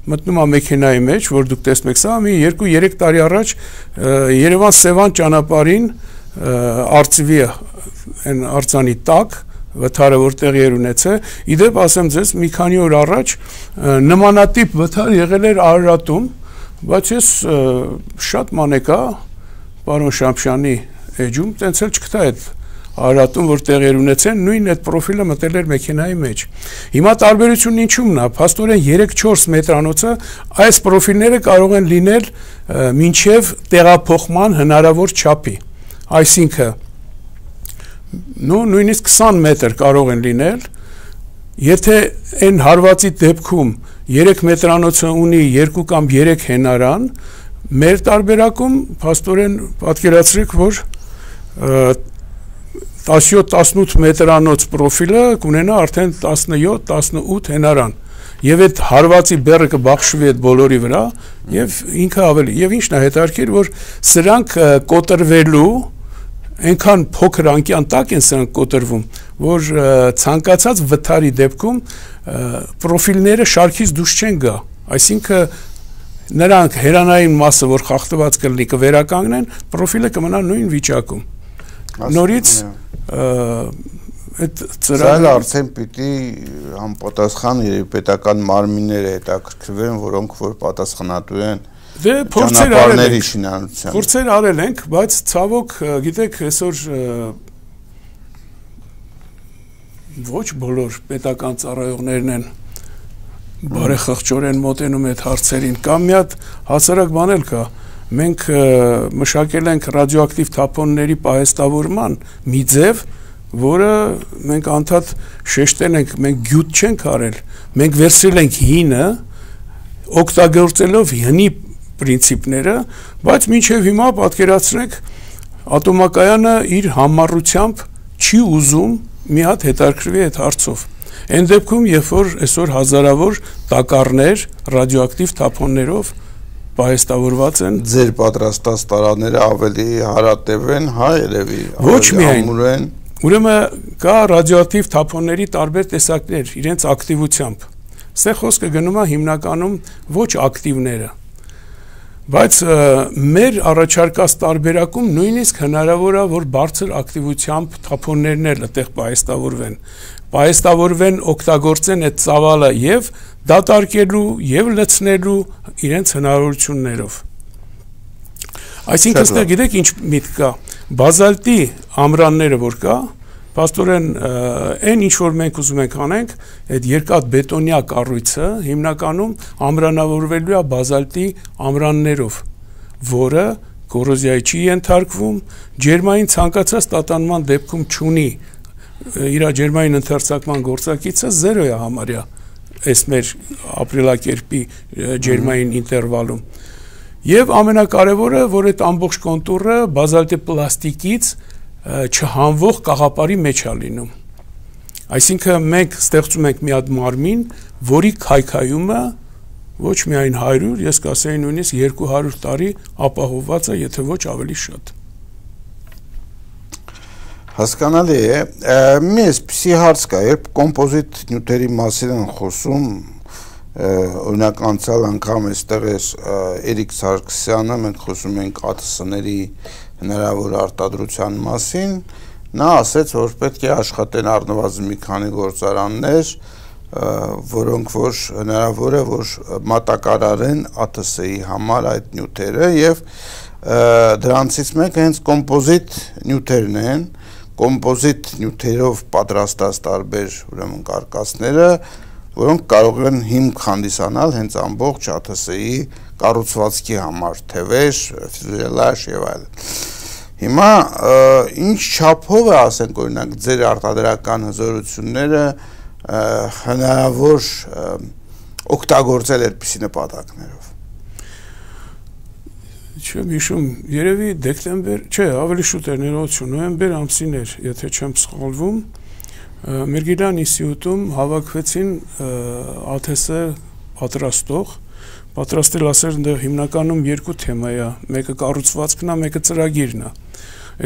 մտնում է մեքենայի մեջ, որ դուք տեսնում եք, սա մի երկու երեք տարի առաջ Երևան-Սևան ճանապարհին արծվի այն արձանի տակ վթարը որ տեղի էր ունեցել, իդեպ ասեմ ձեզ, մի քանի օր առաջ նմանատիպ վթար եղել էր Արարատում, բայց ես շատ մանեկա պարոն Շամշյանի էջում տենց էլ չգտա այդ Արարատում, որ տեղի էր ունեցել, նույն այդ պրոֆիլը մտել էր մեքենայի մեջ։ Հիմա տարբերությունն ինչումն է, փաստորեն երեք չորս մետրանոցը այս պրոֆիլները կարող են լինել մինչև տեղափոխման հնարավոր չափի, այսինքն նո նույնիսկ քսան մետր կարող են լինել, եթե այն հարվածի դեպքում երեք մետրանոցը ունի երկու կամ երեք հենարան, մեր տարբերակում փաստորեն պատկերացրեք, որ տասնյոթ տասնութ մետրանոց պրոֆիլը կունենա արդեն տասնյոթ տասնութ հենարան, եւ այդ հարվածի բեռը կբաշխվի այդ բոլորի վրա, եւ ինքը ավելի, եւ ինչն է հետաքրքիր, որ սրանք կոտրվելու այնքան փոքր անկյան տակ են սրանք կոտրվում, որ ցանկացած վթարի դեպքում պրոֆիլները շարքից դուրս չեն գա, այսինքն նրանք հերանային մասը, որ խախտված կլինի, կվերականգնեն, պրոֆիլը կմնա նույն վիճակում։ Նորից այդ ծրագիրը արդեն պիտի համապատասխան պետական մարմինները հետաքրքրվեն, որոնք որ պատասխանատու են Դե փորձեր արել ենք, փորձեր արել ենք, բայց ցավոք, գիտեք, այսօր ոչ բոլոր պետական ծառայողներն են բարեխղճորեն մոտենում այդ հարցերին, կամ մի հատ հասարակ բան էլ կա, մենք մշակել ենք ռադիոակտիվ թափոնների պահեստավորման մի ձև, որը մենք անդադ շեշտել ենք, մենք գյուտ չենք արել, մենք վերցրել ենք հինը, օգտագործելով հնի պրինցիպները, բայց մինչև հիմա պատկերացրեք ատոմակայանը իր համառությամբ չի ուզում մի հատ հետաքրքրվի այդ հարցով։ Այն դեպքում, երբ որ այսօր հազարավոր տակառներ ռադիոակտիվ թափոններով պահեստավորված են, ձեր պատրաստած տարաները ավելի հարատև են, հա, երևի, ոչ միայն, ուրեմն կա ռադիոակտիվ թափոնների տարբեր տեսակներ իրենց ակտիվությամբ։ Ստեղ խոսքը գնում է հիմնականում ոչ ակտիվները, բայց մեր առաջարկած տարբերակում նույնիսկ հնարավոր է, որ բարձր ակտիվությամբ թափոններն էլ այդտեղ պահեստավորվեն, պահեստավորվեն, օգտագործեն այդ ծավալը եւ դատարկելու եւ լցնելու իրենց հնարավորություններով։ Այսինքն այստեղ գիտեք ինչ միտք կա, բազալտի ամրանները որ կա, փաստորեն այն ինչ որ մենք ուզում ենք անենք, այդ երկաթ բետոնյա կառույցը հիմնականում ամրանավորվելու է բազալտի ամրաններով, որը կորոզիայի չի ենթարկվում, ջերմային ցանկացած տատանման դեպքում չունի իր ջերմային ընդարձակման գործակիցը զերո է համարյա այս մեր ապրելակերպի ջերմային ինտերվալում։ Եվ ամենակարևորը, որ այդ ամբողջ կոնտուրը բազալտի պլաստիկից չհանվող կաղապարի մեջ է լինում։ Այսինքն մենք ստեղծում ենք մի հատ մարմին, որի քայքայումը ոչ միայն հարյուր, ես կասեի նույնիսկ երկու հարյուր տարի ապահովված է, եթե ոչ ավելի շատ։ Հասկանալի է, մի այսպիսի հարց կա, երբ կոմպոզիտ նյութերի մասին են խոսում, օրինակ անցյալ անգամ այստեղ է Էրիկ Սարգսյանը, մենք խոսում ենք ԱԹՍ-ների հնարավոր արտադրության մասին, նա ասեց, որ պետք է աշխատեն առնվազն մի քանի գործարաններ, որոնք որ հնարավոր է, որ մատակարարեն ԱԹՍ-ի համար այդ նյութերը եւ դրանցից մեկը հենց կոմպոզիտ նյութերն են, կոմպոզիտ նյութերով պատրաստած տարբեր ուրեմն կարկասները, որոնք կարող են հիմք հանդիսանալ հենց ամբողջ ԱԹՍ-ի կառուցվածքի համար, թևեր, ֆյուզելաժ եւ այլն։ Հիմա ինչ չափով է, ասենք օրինակ, ձեր արտադրական հզորությունները հնարավոր օգտագործել այդպիսի նպատակներով։ Չեմ հիշում, երևի դեկտեմբեր, չէ, ավելի շուտ էր, ներողություն, նոյեմբեր ամսին էր, եթե չեմ սխալվում, Մերգիլյան ինստիտուտում հավաքվեցին ԱԹՍ պատրաստող, պատրաստել ասել ընդ հիմնականում երկու թեմա է, մեկը կառուցվածքն է, մեկը ծրագիրն է։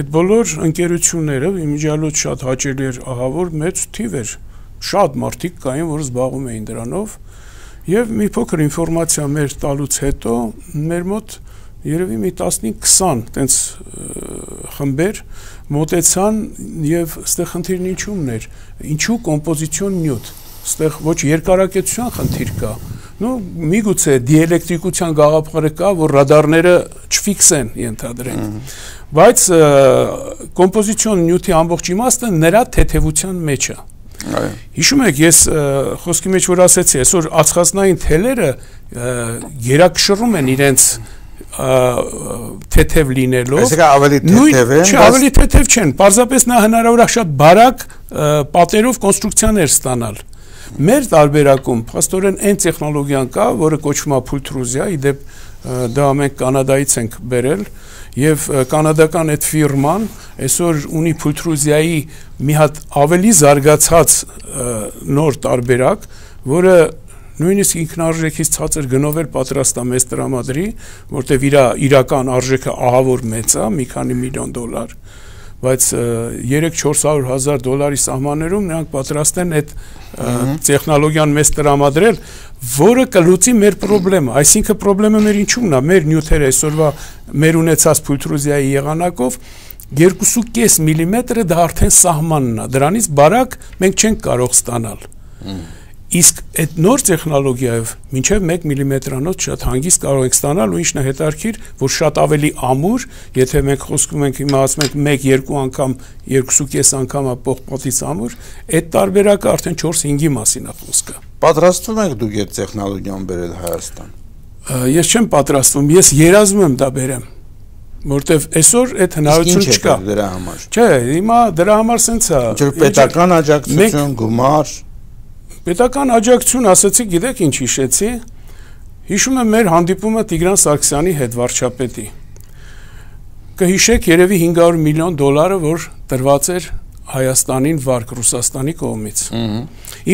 Այդ բոլոր ընկերությունները իմիջիալոց շատ հաճելի էր ահավոր մեծ թիվ էր, շատ մարդիկ կային, որ զբաղվում էին դրանով, եւ մի փոքր ինֆորմացիա մեր տալուց հետո մեր մոտ երևի մի տասնհինգ քսան տենց խմբեր մոտեցան եւ ստեղ խնդիրն ինչումն էր, ինչու կոմպոզիցիոն նյութ, ստեղ ոչ երկարակեցության խնդիր կա, նո միգուցե դիէլեկտրիկության գաղափարը կա, որ ռադարները չֆիքսեն ենթադրենք, բայց կոմպոզիցիոն նյութի ամբողջ իմաստը նրա թեթևության մեջ է։ Հիշում եք, ես խոսքի մեջ որ ասեցի, այսօր ածխածնային թելերը գերակշռում են իրենց թեթև լինելով, այսինքն ավելի թեթև են, չէ, ավելի թեթև չեն, պարզապես նա հնարավոր է շատ բարակ պատերով կոնստրուկցիաներ ստանալ։ Մեր տարբերակում փաստորեն այն տեխնոլոգիան կա, որը կոչվում է փուլտրուզիա, իդեպ դա մենք Կանադայից ենք բերել, եւ կանադական այդ ֆիրման այսօր ունի փուլտրուզիայի մի հատ ավելի զարգացած նոր տարբերակ, որը նույնիսկ ինքնարժեքից ցածր գնով էլ պատրաստ է մեզ տրամադրի, որտեվ իր իրական արժեքը ահավոր մեծ է, մի քանի միլիոն դոլար, բայց երեք-չորս հարյուր հազար դոլարի սահմաններում նրանք պատրաստ են այդ տեխնոլոգիան մեզ տրամադրել, որը կլուծի մեր խնդրեմը, այսինքն խնդրեմը մեր ինչումն է, մեր նյութերը այսօրվա մեր ունեցած փուլտրուզիայի եղանակով երկու կես միլիմետրը դա արդեն սահմանն է, դրանից բարակ մենք չենք կարող ստանալ։ Իսկ այդ նոր տեխնոլոգիայով մինչև մեկ միլիմետրանոց շատ հանգիստ կարող եք ստանալ ու ինչն է հետաքրքիր, որ շատ ավելի ամուր, եթե մենք խոսքում ենք հիմա ասում ենք մեկ-երկու անգամ, երկուսուկես անգամ պողպատից ամուր, այդ տարբերակը արդեն չորս-հինգի մասին է խոսքը։ Պատրաստվում եք դուք այդ տեխնոլոգիան բերել Հայաստան։ Ես չեմ պատրաստվում, ես երազում եմ դա բերեմ, որտեվ այսօր այդ հնարավորություն չկա դրա համար։ Չէ, հիմա դրա համար սենց է։ Ինչ պետական աջակցություն, գումար։ Պետական աջակցություն, ասացի, գիտեք ինչ հիշեցի։ Հիշում եմ մեր հանդիպումը Տիգրան Սարգսյանի հետ, վարչապետի։ Կհիշեք երևի հինգ հարյուր միլիոն դոլարը, որ տրված էր Հայաստանին վարկ Ռուսաստանի կողմից։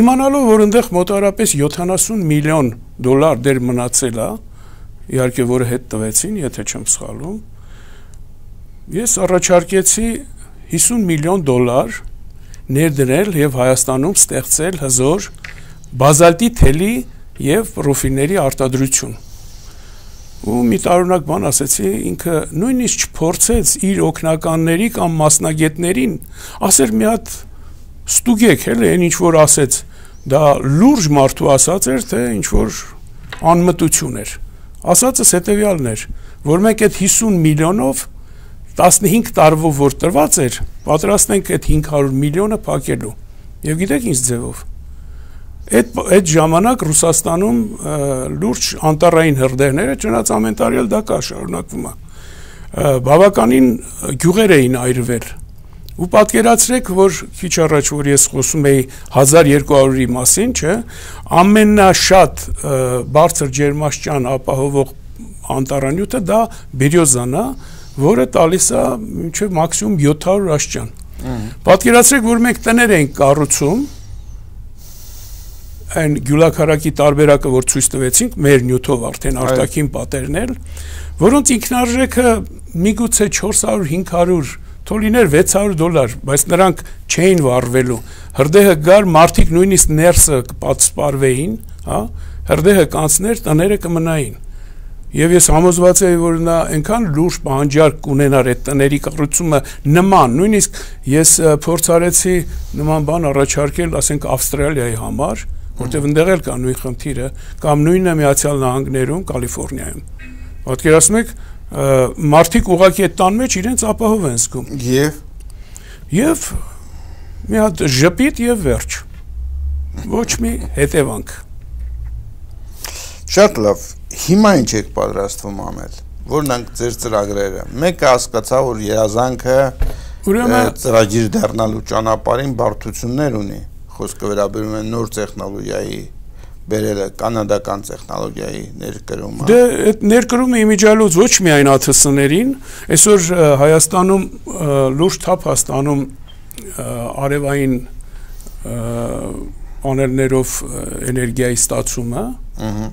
Իմանալով, որ այնտեղ մոտավորապես յոթանասուն միլիոն դոլար դեր մնացել է, իհարկե որը հետ տվեցին, եթե չեմ սխալվում, ես առաջարկեցի հիսուն միլիոն դոլար ներդրել եւ Հայաստանում ստեղծել հզոր բազալտի թելի եւ պրոֆիլների արտադրություն։ Ու մի տարօրինակ բան ասեցի, ինքը նույնիսկ չփորձեց իր օգնականների կամ մասնագետներին, ասեր մի հատ ստուգեք, հələ այն ինչ որ ասեց, դա լուրջ մարդու ասած էր, թե ինչ որ անմտություն էր։ Ասածս հետեւյալն էր, որ մենք այդ հիսուն միլիոնով տասնհինգ տարվով որ տրված էր, պատրաստ ենք այդ հինգ հարյուր միլիոնը փակելու։ Եվ գիտեք ինչ ձևով։ Այդ այդ ժամանակ Ռուսաստանում լուրջ անտառային հրդեհներ, չնայած ամեն տարի էլ դա կա շարունակվում է։ Բավականին գյուղեր էին այրվել։ Ու պատկերացրեք, որ քիչ առաջ որ ես խոսում էի հազար երկու հարյուրի մասին, չէ, ամենաշատ բարձր ջերմաստիճան ապահովող անտառանյութը դա բերիոզան է, որը տալիս է մինչև մաքսիմում յոթ հարյուր աստիճան։ Պատկերացրեք, որ մենք տներ ենք կառուցում, այն գյուլաքարակի տարբերակը, որ ցույց տվեցինք, մեր նյութով արդեն արտաքին պատերներ, որոնց ինքնարժեքը միգուցե չորս հարյուր հինգ հարյուր թոլիներ վեց հարյուր դոլար, բայց նրանք չէին վառվելու։ Հրդեհը գար, մարդիկ նույնիսկ ներսը կպատսպարվեին, հա, հրդեհը կանցներ, տները կմնային։ Եվ ես համոզված եի, որ նա այնքան լուրջ պահանջարկ կունենար այդ տների կառուցումը նման, նույնիսկ ես փորձարեցի նման բան առաջարկել, ասենք Ավստրալիայի համար, որտեղ ընդեղ էլ կա նույն խնդիրը, կամ նույնը Միացյալ Նահանգներում, Կալիֆոռնիայում։ Պատկերացնում եք, մարդիկ ուղղակի այդ տան մեջ իրենց ապահով են զգում։ Եվ Եվ մի հատ ժպիտ եւ վերջ։ Ոչ մի հետևանք։ Շատ լավ։ Հիմա ինչ եք պատրաստվում անել։ Որն են ձեր ծրագրերը։ Մեկը հասկացա, որ երազանքը ծրագիր դառնալու ճանապարհին բարդություններ ունի։ Խոսքը վերաբերում է նոր տեխնոլոգիայի բերելը, կանադական տեխնոլոգիայի ներկրումը։ Դե այդ ներկրումը իմիջիալոց ոչ միայն ԱԹՍ-ներին, այսօր Հայաստանում լուրջ թափ հաստանում արևային պանելներով էներգիայի ստացումը։ Ահա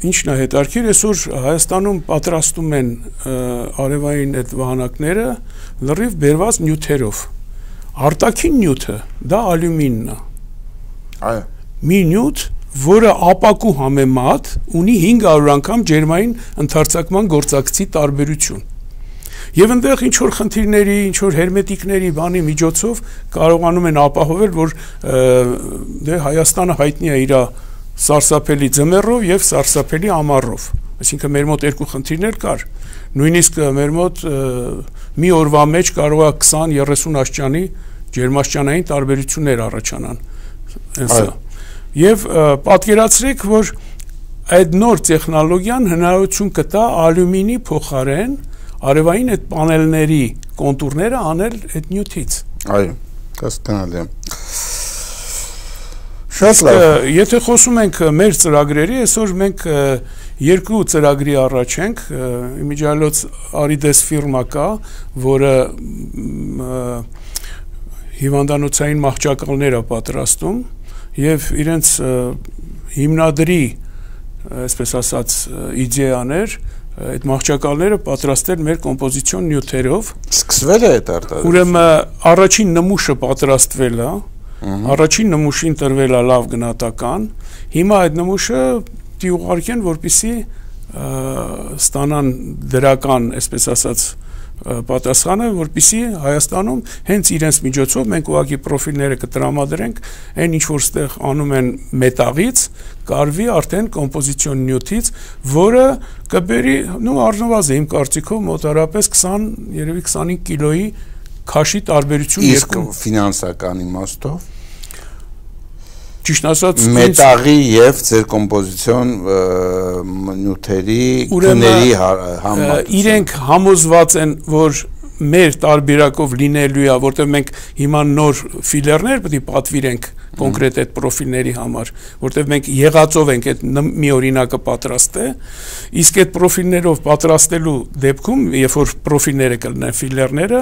Ինչն է հետաքրքիր, այսօր Հայաստանում պատրաստում են արևային այդ վահանակները լրիվ բերված նյութերով։ Արտաքին նյութը դա ալյումինն է։ Այո։ Մի նյութ, որը ապակու համեմատ ունի հինգ հարյուր անգամ ջերմային ընդարձակման գործակցի տարբերություն։ Եվ այնտեղ ինչ որ խնդիրների, ինչ որ հերմետիկների բանի միջոցով կարողանում են ապահովել, որ դե Հայաստանը հայտնի է իր սարսափելի ձմեռով եւ սարսափելի ամառով, այսինքն մեր մոտ երկու խնդիրներ կար, նույնիսկ մեր մոտ մի օրվա մեջ կարող է քսան երեսուն աստիճանի ջերմաստիճանային տարբերություններ առաջանան, այնսա։ Եվ պատկերացրեք, որ այդ նոր տեխնոլոգիան հնարավորություն կտա ալյումինի փոխարեն արևային այդ պանելների կոնտուրները անել այդ նյութից։ Այո, հասկանալի է։ Եթե խոսում ենք մեր ծրագրերի, այսօր մենք երկու ծրագրի առաջ ենք, իմիջիալոց Arides ֆիրմա կա, որը հիվանդանոցային մահճակալներ է պատրաստում եւ իրենց հիմնադրի, այսպես ասած, իդեաներ, այդ մահճակալները պատրաստել մեր կոմպոզիցիոն նյութերով։ Սկսվել է այդ արտադրությունը։ Ուրեմն առաջին նմուշը պատրաստվել է, առաջին նմուշին տրվել է լավ գնահատական, հիմա այդ նմուշը դի ուղարկեն, որպեսզի ստանան դրական, այսպես ասած, պատասխանը, որպեսզի Հայաստանում հենց իրենց միջոցով մենք ուղղակի պրոֆիլները կտրամադրենք, այն ինչ որ ստեղ անում են մետաղից, կարվի արդեն կոմպոզիցիոն նյութից, որը կբերի, նու առնվազն իմ կարծիքով մոտարապես քսան, երևի քսանհինգ կիլոյի քաշի տարբերություն երկու ֆինանսական իմաստով ճիշտ ասած մետաղի եւ ձեր կոմպոզիցիոն նյութերի գների համեմատություն իրենք համոզված են, որ մեր տարբերակով լինելու է, որտեղ մենք հիմա նոր ֆիլերներ պետք է պատվիրենք կոնկրետ այդ պրոֆիլների համար, որտեղ մենք եղածով ենք այդ մի օրինակը պատրաստել, իսկ այդ պրոֆիլներով պատրաստելու դեպքում, երբ որ պրոֆիլները կլինեն ֆիլերները,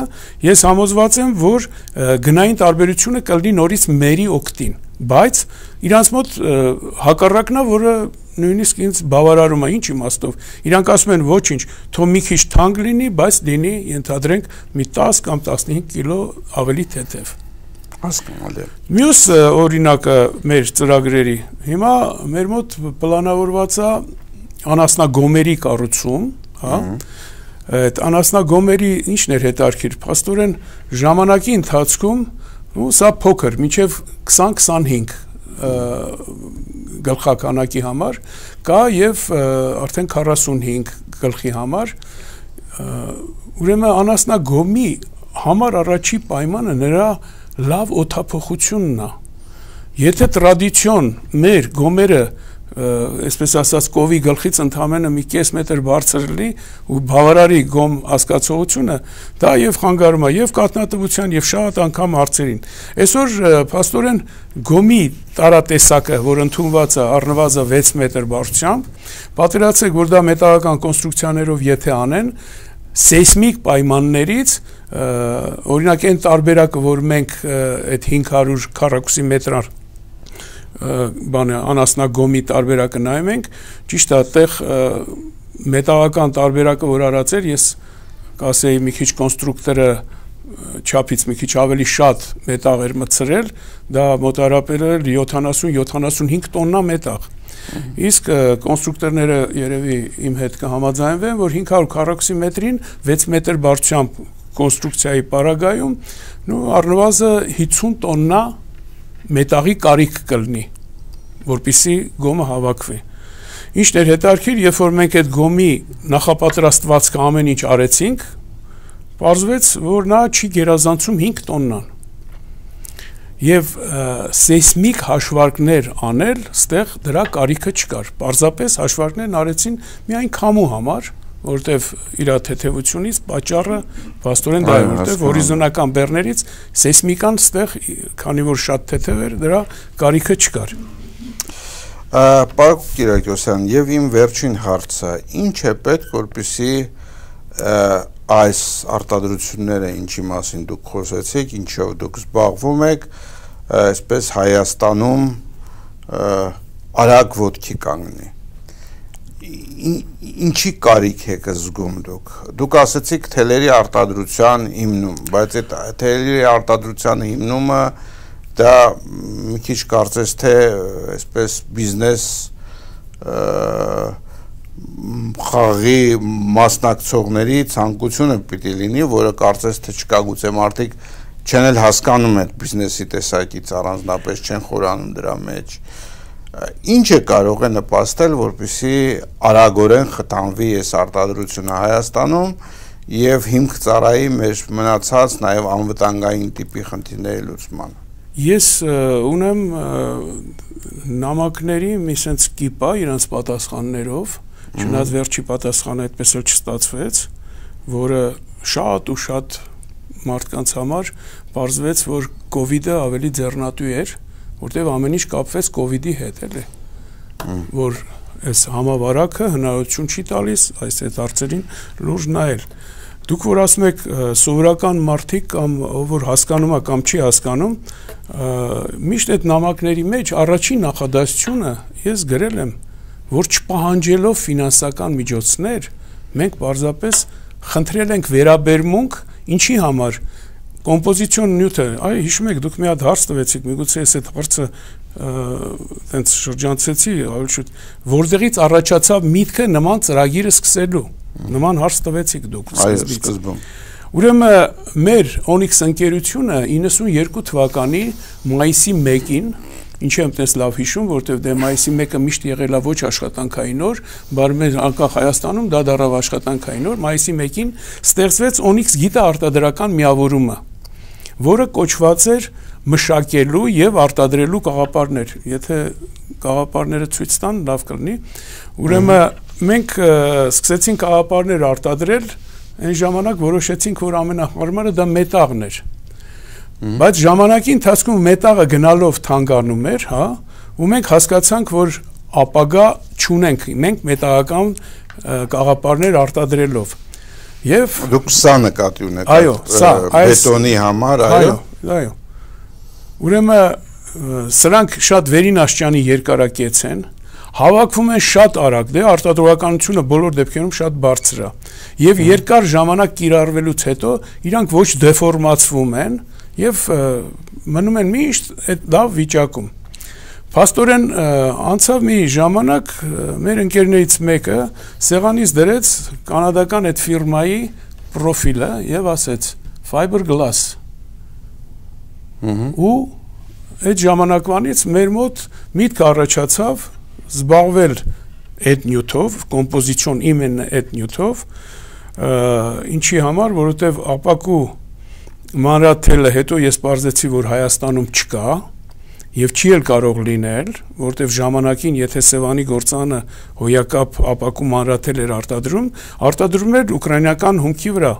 ես համոզված եմ, որ գնային տարբերությունը կլինի նորից մերի օգտին, բայց իրանց մոտ հակառակն է, որը նույնիսկ ինձ բավարարում է, ինչ իմաստով, իրանք ասում են ոչինչ, թող մի քիչ թանկ լինի, բայց լինի, ենթադրենք, մի տաս կամ տասնհինգ կիլո ավելի թեթև։ Հասկանալի։ Մյուս օրինակը մեր ծրագրերի, հիմա մեր մոտ պլանավորված է անասնագոմերի կառուցում, հա, այդ անասնագոմերի ինչն էր հետարքիր, փաստորեն ժամանակի ընթացքում, ու սա փոքր, մինչև քսան քսանհինգ գլխականակի համար կա եւ արդեն քառասունհինգ գլխի համար ուրեմն անասնագոմի համար առաջի պայմանը նրա լավ օդափոխությունն է եթե տրադիցիոն մեր գոմերը այսպես ասած կովի գլխից ընդամենը մի կես մետր բարձր լինի ու բավարարի գոմ հասկացողությունը դա եւ խանգարում է եւ կաթնատվության եւ շատ անգամ հարցերին այսօր փաստորեն գոմի տարատեսակը որ ընդունված է առնվազն վեց մետր բարձրությամբ պատկերացրեք որ դա մետաղական կոնստրուկցիաներով եթե անեն սեյսմիկ պայմաններից օրինակ այն տարբերակը որ մենք այդ հինգ հարյուր քառակուսի մետր բանը անասնագոմի տարբերակը նայում ենք ճիշտ է այդտեղ մետաղական տարբերակը որ արած էր ես կասեի մի քիչ կոնստրուկտորը չափից մի քիչ ավելի շատ մետաղ էր մտցրել դա մոտարապես յոթանասուն յոթանասունհինգ տոննա մետաղ իսկ կոնստրուկտորները երևի իմ հետ կհամաձայնվեն որ հինգ հարյուր քառակուսի մետրին վեց մետր բարձրությամբ կոնստրուկցիայի պարագայում նու առնվազն հիսուն տոննա մետաղի կարիք կլինի, որպեսզի գոմը հավաքվի։ Ինչն էր հետարքիր, երբ որ մենք այդ գոմի նախապատրաստվածքը ամեն ինչ արեցինք, պարզվեց, որ նա չի գերազանցում հինգ տոննան։ Եվ սեյսմիկ հաշվարկներ անել, ստեղ դրա կարիքը չկար։ Պարզապես հաշվարկներն արեցին միայն քամու համար, որտեվ իր թեթևությունից պատճառը փաստորեն դա է, որտեվ հորիզոնական բեռներից սեյսմիկան ստեղ, քանի որ շատ թեթև էր, դրա կարիքը չկար։ Պարոն Կիրակոսյան, եւ իմ վերջին հարցը, ինչ է պետք, որպեսզի այս արտադրությունները, ինչի մասին դուք խոսեցիք, ինչով դուք զբաղվում եք, այսպես Հայաստանում արագ ոտքի կանգնի։ Ինչի կարիք եք զգում դուք դուք ասացիք թելերի արտադրության հիմնում բայց այդ թելերի արտադրության հիմնումը դա մի քիչ կարծես թե այսպես բիզնես խաղի մասնակցողների ցանկությունը պիտի լինի որը կարծես թե չկա գուցե մարդիկ չեն էլ հասկանում այդ բիզնեսի տեսակից առանձնապես չեն խորանում դրա մեջ Ինչ է կարող է նպաստել, որպեսզի արագորեն խթանվի այս արտադրությունը Հայաստանում եւ հիմք ծառայի մեր մնացած նաեւ անվտանգային տիպի խնդիրների լուծմանը։ Ես ունեմ նամակների մի sense կիպա իրենց պատասխաններով, չնայած վերջի պատասխանը այդպես էլ չստացվեց, որը շատ ու շատ մարդկանց համար պարզվեց, որ կովիդը ավելի ձեռնատու էր որտեղ ամեն ինչ կապվեց կովիդի հետ էլի որ այս համավարակը հնարավորություն չի տալիս այս այդ հարցերին լուրջ նայել դուք որ ասում եք սովորական մարդիկ կամ ով որ հասկանում է կամ չի հասկանում միշտ այդ նամակների մեջ առաջին նախադասությունը ես գրել եմ որ չպահանջելով ֆինանսական միջոցներ մենք պարզապես խնդրել ենք վերաբերմունք ինչի համար Կոմպոզիցիոն նյութը, այ հիշում եք դուք մի հատ հարց տվեցիք, միգուցե ես այդ հարցը տենց շրջանցեցի, ավելի շուտ, որտեղից առաջացավ միտքը նման ծրագիրը սկսելու։ Նման հարց տվեցիք դուք սկզբից։ Ուրեմն մեր Onyx ընկերությունը իննսունյոթ թվականի մայիսի մեկին, ինչ եմ տես լավ հիշում, որտեղ դե մայիսի մեկը միշտ եղել է ոչ աշխատանքային օր, բայց մեր անկախ Հայաստանում դա դառավ աշխատանքային օր, մայիսի մեկին ստեղծվեց Onyx գիտաարտադրական միավորումը, որը կոչված էր մշակելու եւ արտադրելու գաղափարներ, եթե գաղափարները ցույց տան, լավ կլինի։ Ուրեմն մենք սկսեցինք գաղափարներ արտադրել, այն ժամանակ որոշեցինք, որ ամենահարմարը դա մետաղն էր։ Բայց ժամանակի ընթացքում մետաղը գնալով թանկանում էր, հա, ու մենք հասկացանք, որ ապագա չունենք, մենք մետաղական գաղափարներ արտադրելով։ Եվ դուք սա նկատի ունեք, այո, սա, բետոնի համար, այո, այո։ Ուրեմն սրանք շատ վերին աշճանի երկարակեց են, հավաքվում են շատ արագ, դե արտադրողականությունը բոլոր դեպքերում շատ բարձր է, եւ երկար ժամանակ կիրառվելուց հետո իրանք ոչ դեֆորմացվում են եւ մնում են միշտ այդ լավ վիճակում։ Փաստորեն անցավ մի ժամանակ մեր ընկերներից մեկը սեղանից դրեց կանադական այդ ֆիրմայի պրոֆիլը եւ ասեց fiberglass։ Ու այդ ժամանակվանից մեր մոտ միտք առաջացավ զբաղվել այդ նյութով, կոմպոզիցիոն իմенно այդ նյութով, ինչի համար, որովհետեւ ապակու մանրաթելը հետո ես բարձեցի, որ Հայաստանում չկա եւ չի էլ կարող լինել, որովհետեւ ժամանակին եթե Սևանի գործանը հոյակապ ապակու մանրաթել էր արտադրում, արտադրում էր ուկրաինական հումքի վրա,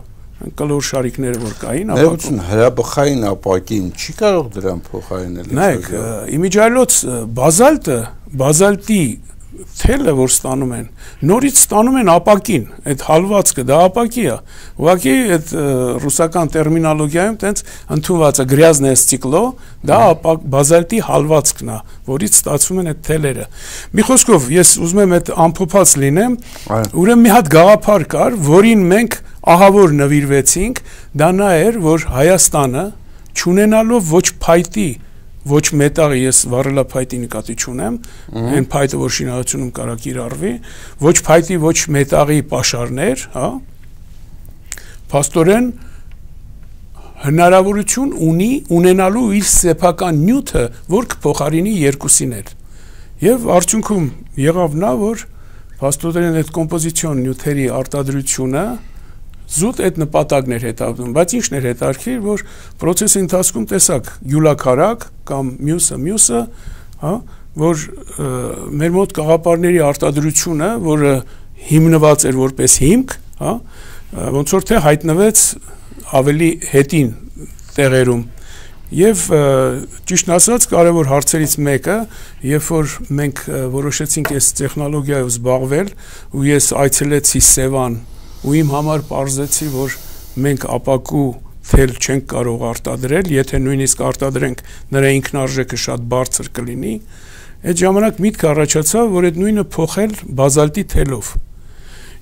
կլոր շարիկները որ կային, ապակու հրաբխային ապակին չի կարող դրան փոխարինել։ Նայեք, իմիջայլոց բազալտը, բազալտի թելը որ ստանում են, նորից ստանում են ապակին, այդ հալվածքը դա ապակի է։ Ուղղակի այդ ռուսական տերմինոլոգիայում տենց ընդունված է գրязное стекло, դա բազալտի հալվածքն է, որից ստացվում են այդ թելերը։ Մի խոսքով ես ուզում եմ այդ ամփոփած լինեմ, ուրեմն մի հատ գաղափար կար, որին մենք ահավոր նվիրվեցինք, դա նա էր, որ Հայաստանը չունենալով ոչ փայտի ոչ մետաղի, ես վառելափայտի նկատի չունեմ, այն փայտը, որ շինարարությունում կարա կիրառվի, ոչ փայտի, ոչ մետաղի պաշարներ, հա, փաստորեն հնարավորություն ունի ունենալու իր սեփական նյութը, որ կփոխարինի երկուսին էլ։ Եվ արդյունքում եղավ նա, որ փաստորեն այդ կոմպոզիցիոն նյութերի արտադրությունը զուտ այդ նպատակն էր հետապնդում, բայց ինչն էր հետարքիր, որ process-ի ընթացքում տեսակ յուլաքարակ կամ մյուսը մյուսը, հա, որ մեր մոտ գաղափարների արտադրությունը, որը հիմնված էր որպես հիմք, հա, ոնց որ թե հայտնվեց ավելի հետին տեղերում։ Եվ ճիշտն ասած, կարևոր հարցերից մեկը, երբ որ մենք որոշեցինք այս տեխնոլոգիայով զբաղվել, ու ես այցելեցի Սևան, ու իմ համար պարզեցի, որ մենք ապակու թել չենք կարող արտադրել, եթե նույնիսկ արտադրենք, նրա ինքնարժեքը շատ բարձր կլինի, այդ ժամանակ միտք առաջացավ, որ այդ նույնը փոխել բազալտի թելով։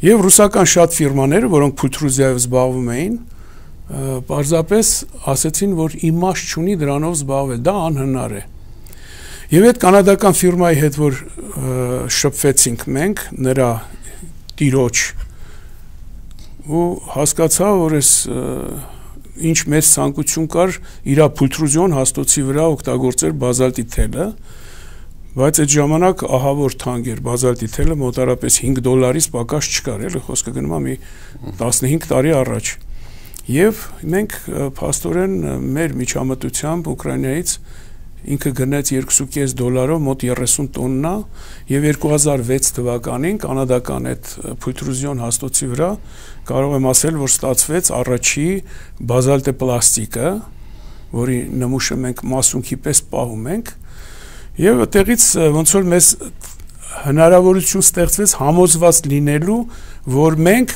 Եվ ռուսական շատ ֆիրմաները, որոնք փուլտրուզիայով զբաղվում էին, պարզապես ասեցին, որ իմաստ չունի դրանով զբաղվել, դա անհնար է։ Եվ այդ կանադական ֆիրմայի հետ, որ շփվեցինք մենք, նրա տիրոջ, ու հասկացա, որ ես ինչ մեծ ցանկություն կար իր փուլտրուզիոն հաստոցի վրա օգտագործել բազալտի թելը, բայց այդ ժամանակ ահավոր թանկ էր բազալտի թելը, մոտարապես հինգ դոլարից պակաս չկար, էլի խոսքը գնում է մի տասնհինգ տարի առաջ։ Եվ մենք փաստորեն մեր միջամտությամբ Ուկրաինայից ինքը գնեց երկու կես դոլարով մոտ երեսուն տոննա եւ երկու հազար վեց թվականին կանադական այդ փուլտրուզիոն հաստոցի վրա կարող եմ ասել, որ ստացվեց առաջի բազալտե պլաստիկը, որի նմուշը մենք մասունքի պես պահում ենք, եւ այդտեղից ոնց որ մեզ հնարավորություն ստեղծվեց համոզված լինելու, որ մենք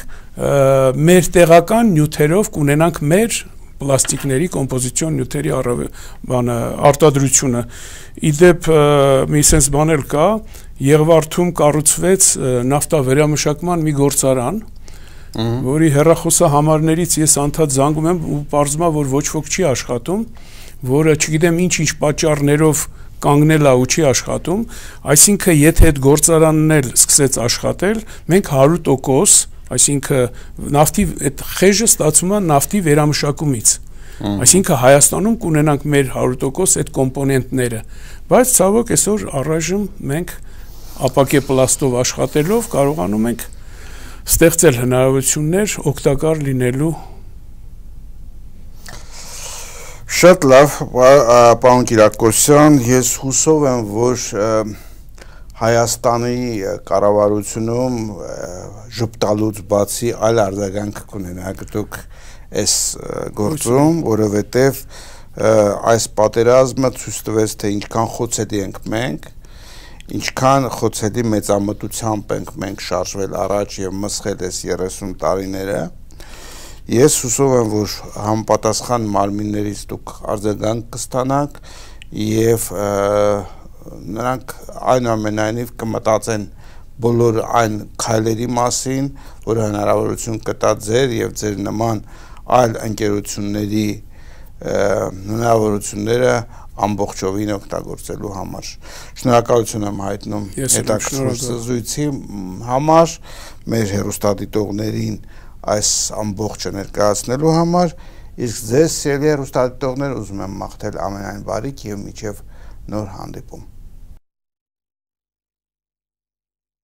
մեր տեղական նյութերով կունենանք մեր պլաստիկների կոմպոզիցիոն նյութերի արտադրությունը։ Իդեպ մի sense բան էլ կա, Եղվարդում կառուցվեց նավթավերամշակման մի գործարան, որի հեռախոսահամարներից ես անդադ զանգում եմ ու պարզվում է, որ ոչ ոք չի աշխատում, որը չգիտեմ ինչ-ինչ պատճառներով կանգնել է ու չի աշխատում, այսինքն եթե այդ գործարանն էլ սկսեց աշխատել, մենք հարյուր տոկոս Այսինքն նավթի այդ խեժը ստացվում է նավթի վերամշակումից։ Այսինքն Հայաստանում կունենանք մեր հարյուր տոկոս այդ կոմպոնենտները, բայց ցավոք այսօր առայժմ մենք ապակե պլաստով աշխատելով կարողանում ենք ստեղծել հնարավորություններ օգտակար լինելու։ Շատ լավ, պարոն Կիրակոսյան, ես հուսով եմ, որ Հայաստանի կառավարությունում ժպտալուց բացի այլ արձագանք կունենաք դուք այս գործում, որովհետև այս պատերազմը ցույց տվեց, թե ինչքան խոցելի ենք մենք, ինչքան խոցելի մեծամտությամբ ենք մենք շարժվել առաջ եւ մսխել այս երեսուն տարիները։ Ես հուսով եմ, որ համապատասխան մարմիններից դուք արձագանք կստանաք եւ նրանք այնուամենայնիվ կմտածեն բոլոր այն քայլերի մասին, որ հնարավորություն կտա ձեր եւ ձեր նման այլ ընկերությունների հնարավորությունները ամբողջովին օգտագործելու համար։ Շնորհակալություն եմ հայտնում հետաքրքիր զրույցի համար, մեր հեռուստադիտողներին այս ամբողջը ներկայացնելու համար, իսկ ձեզ սիրելի հեռուստադիտողներ ուզում եմ մաղթել ամենայն բարիք եւ մինչեւ նոր հանդիպում։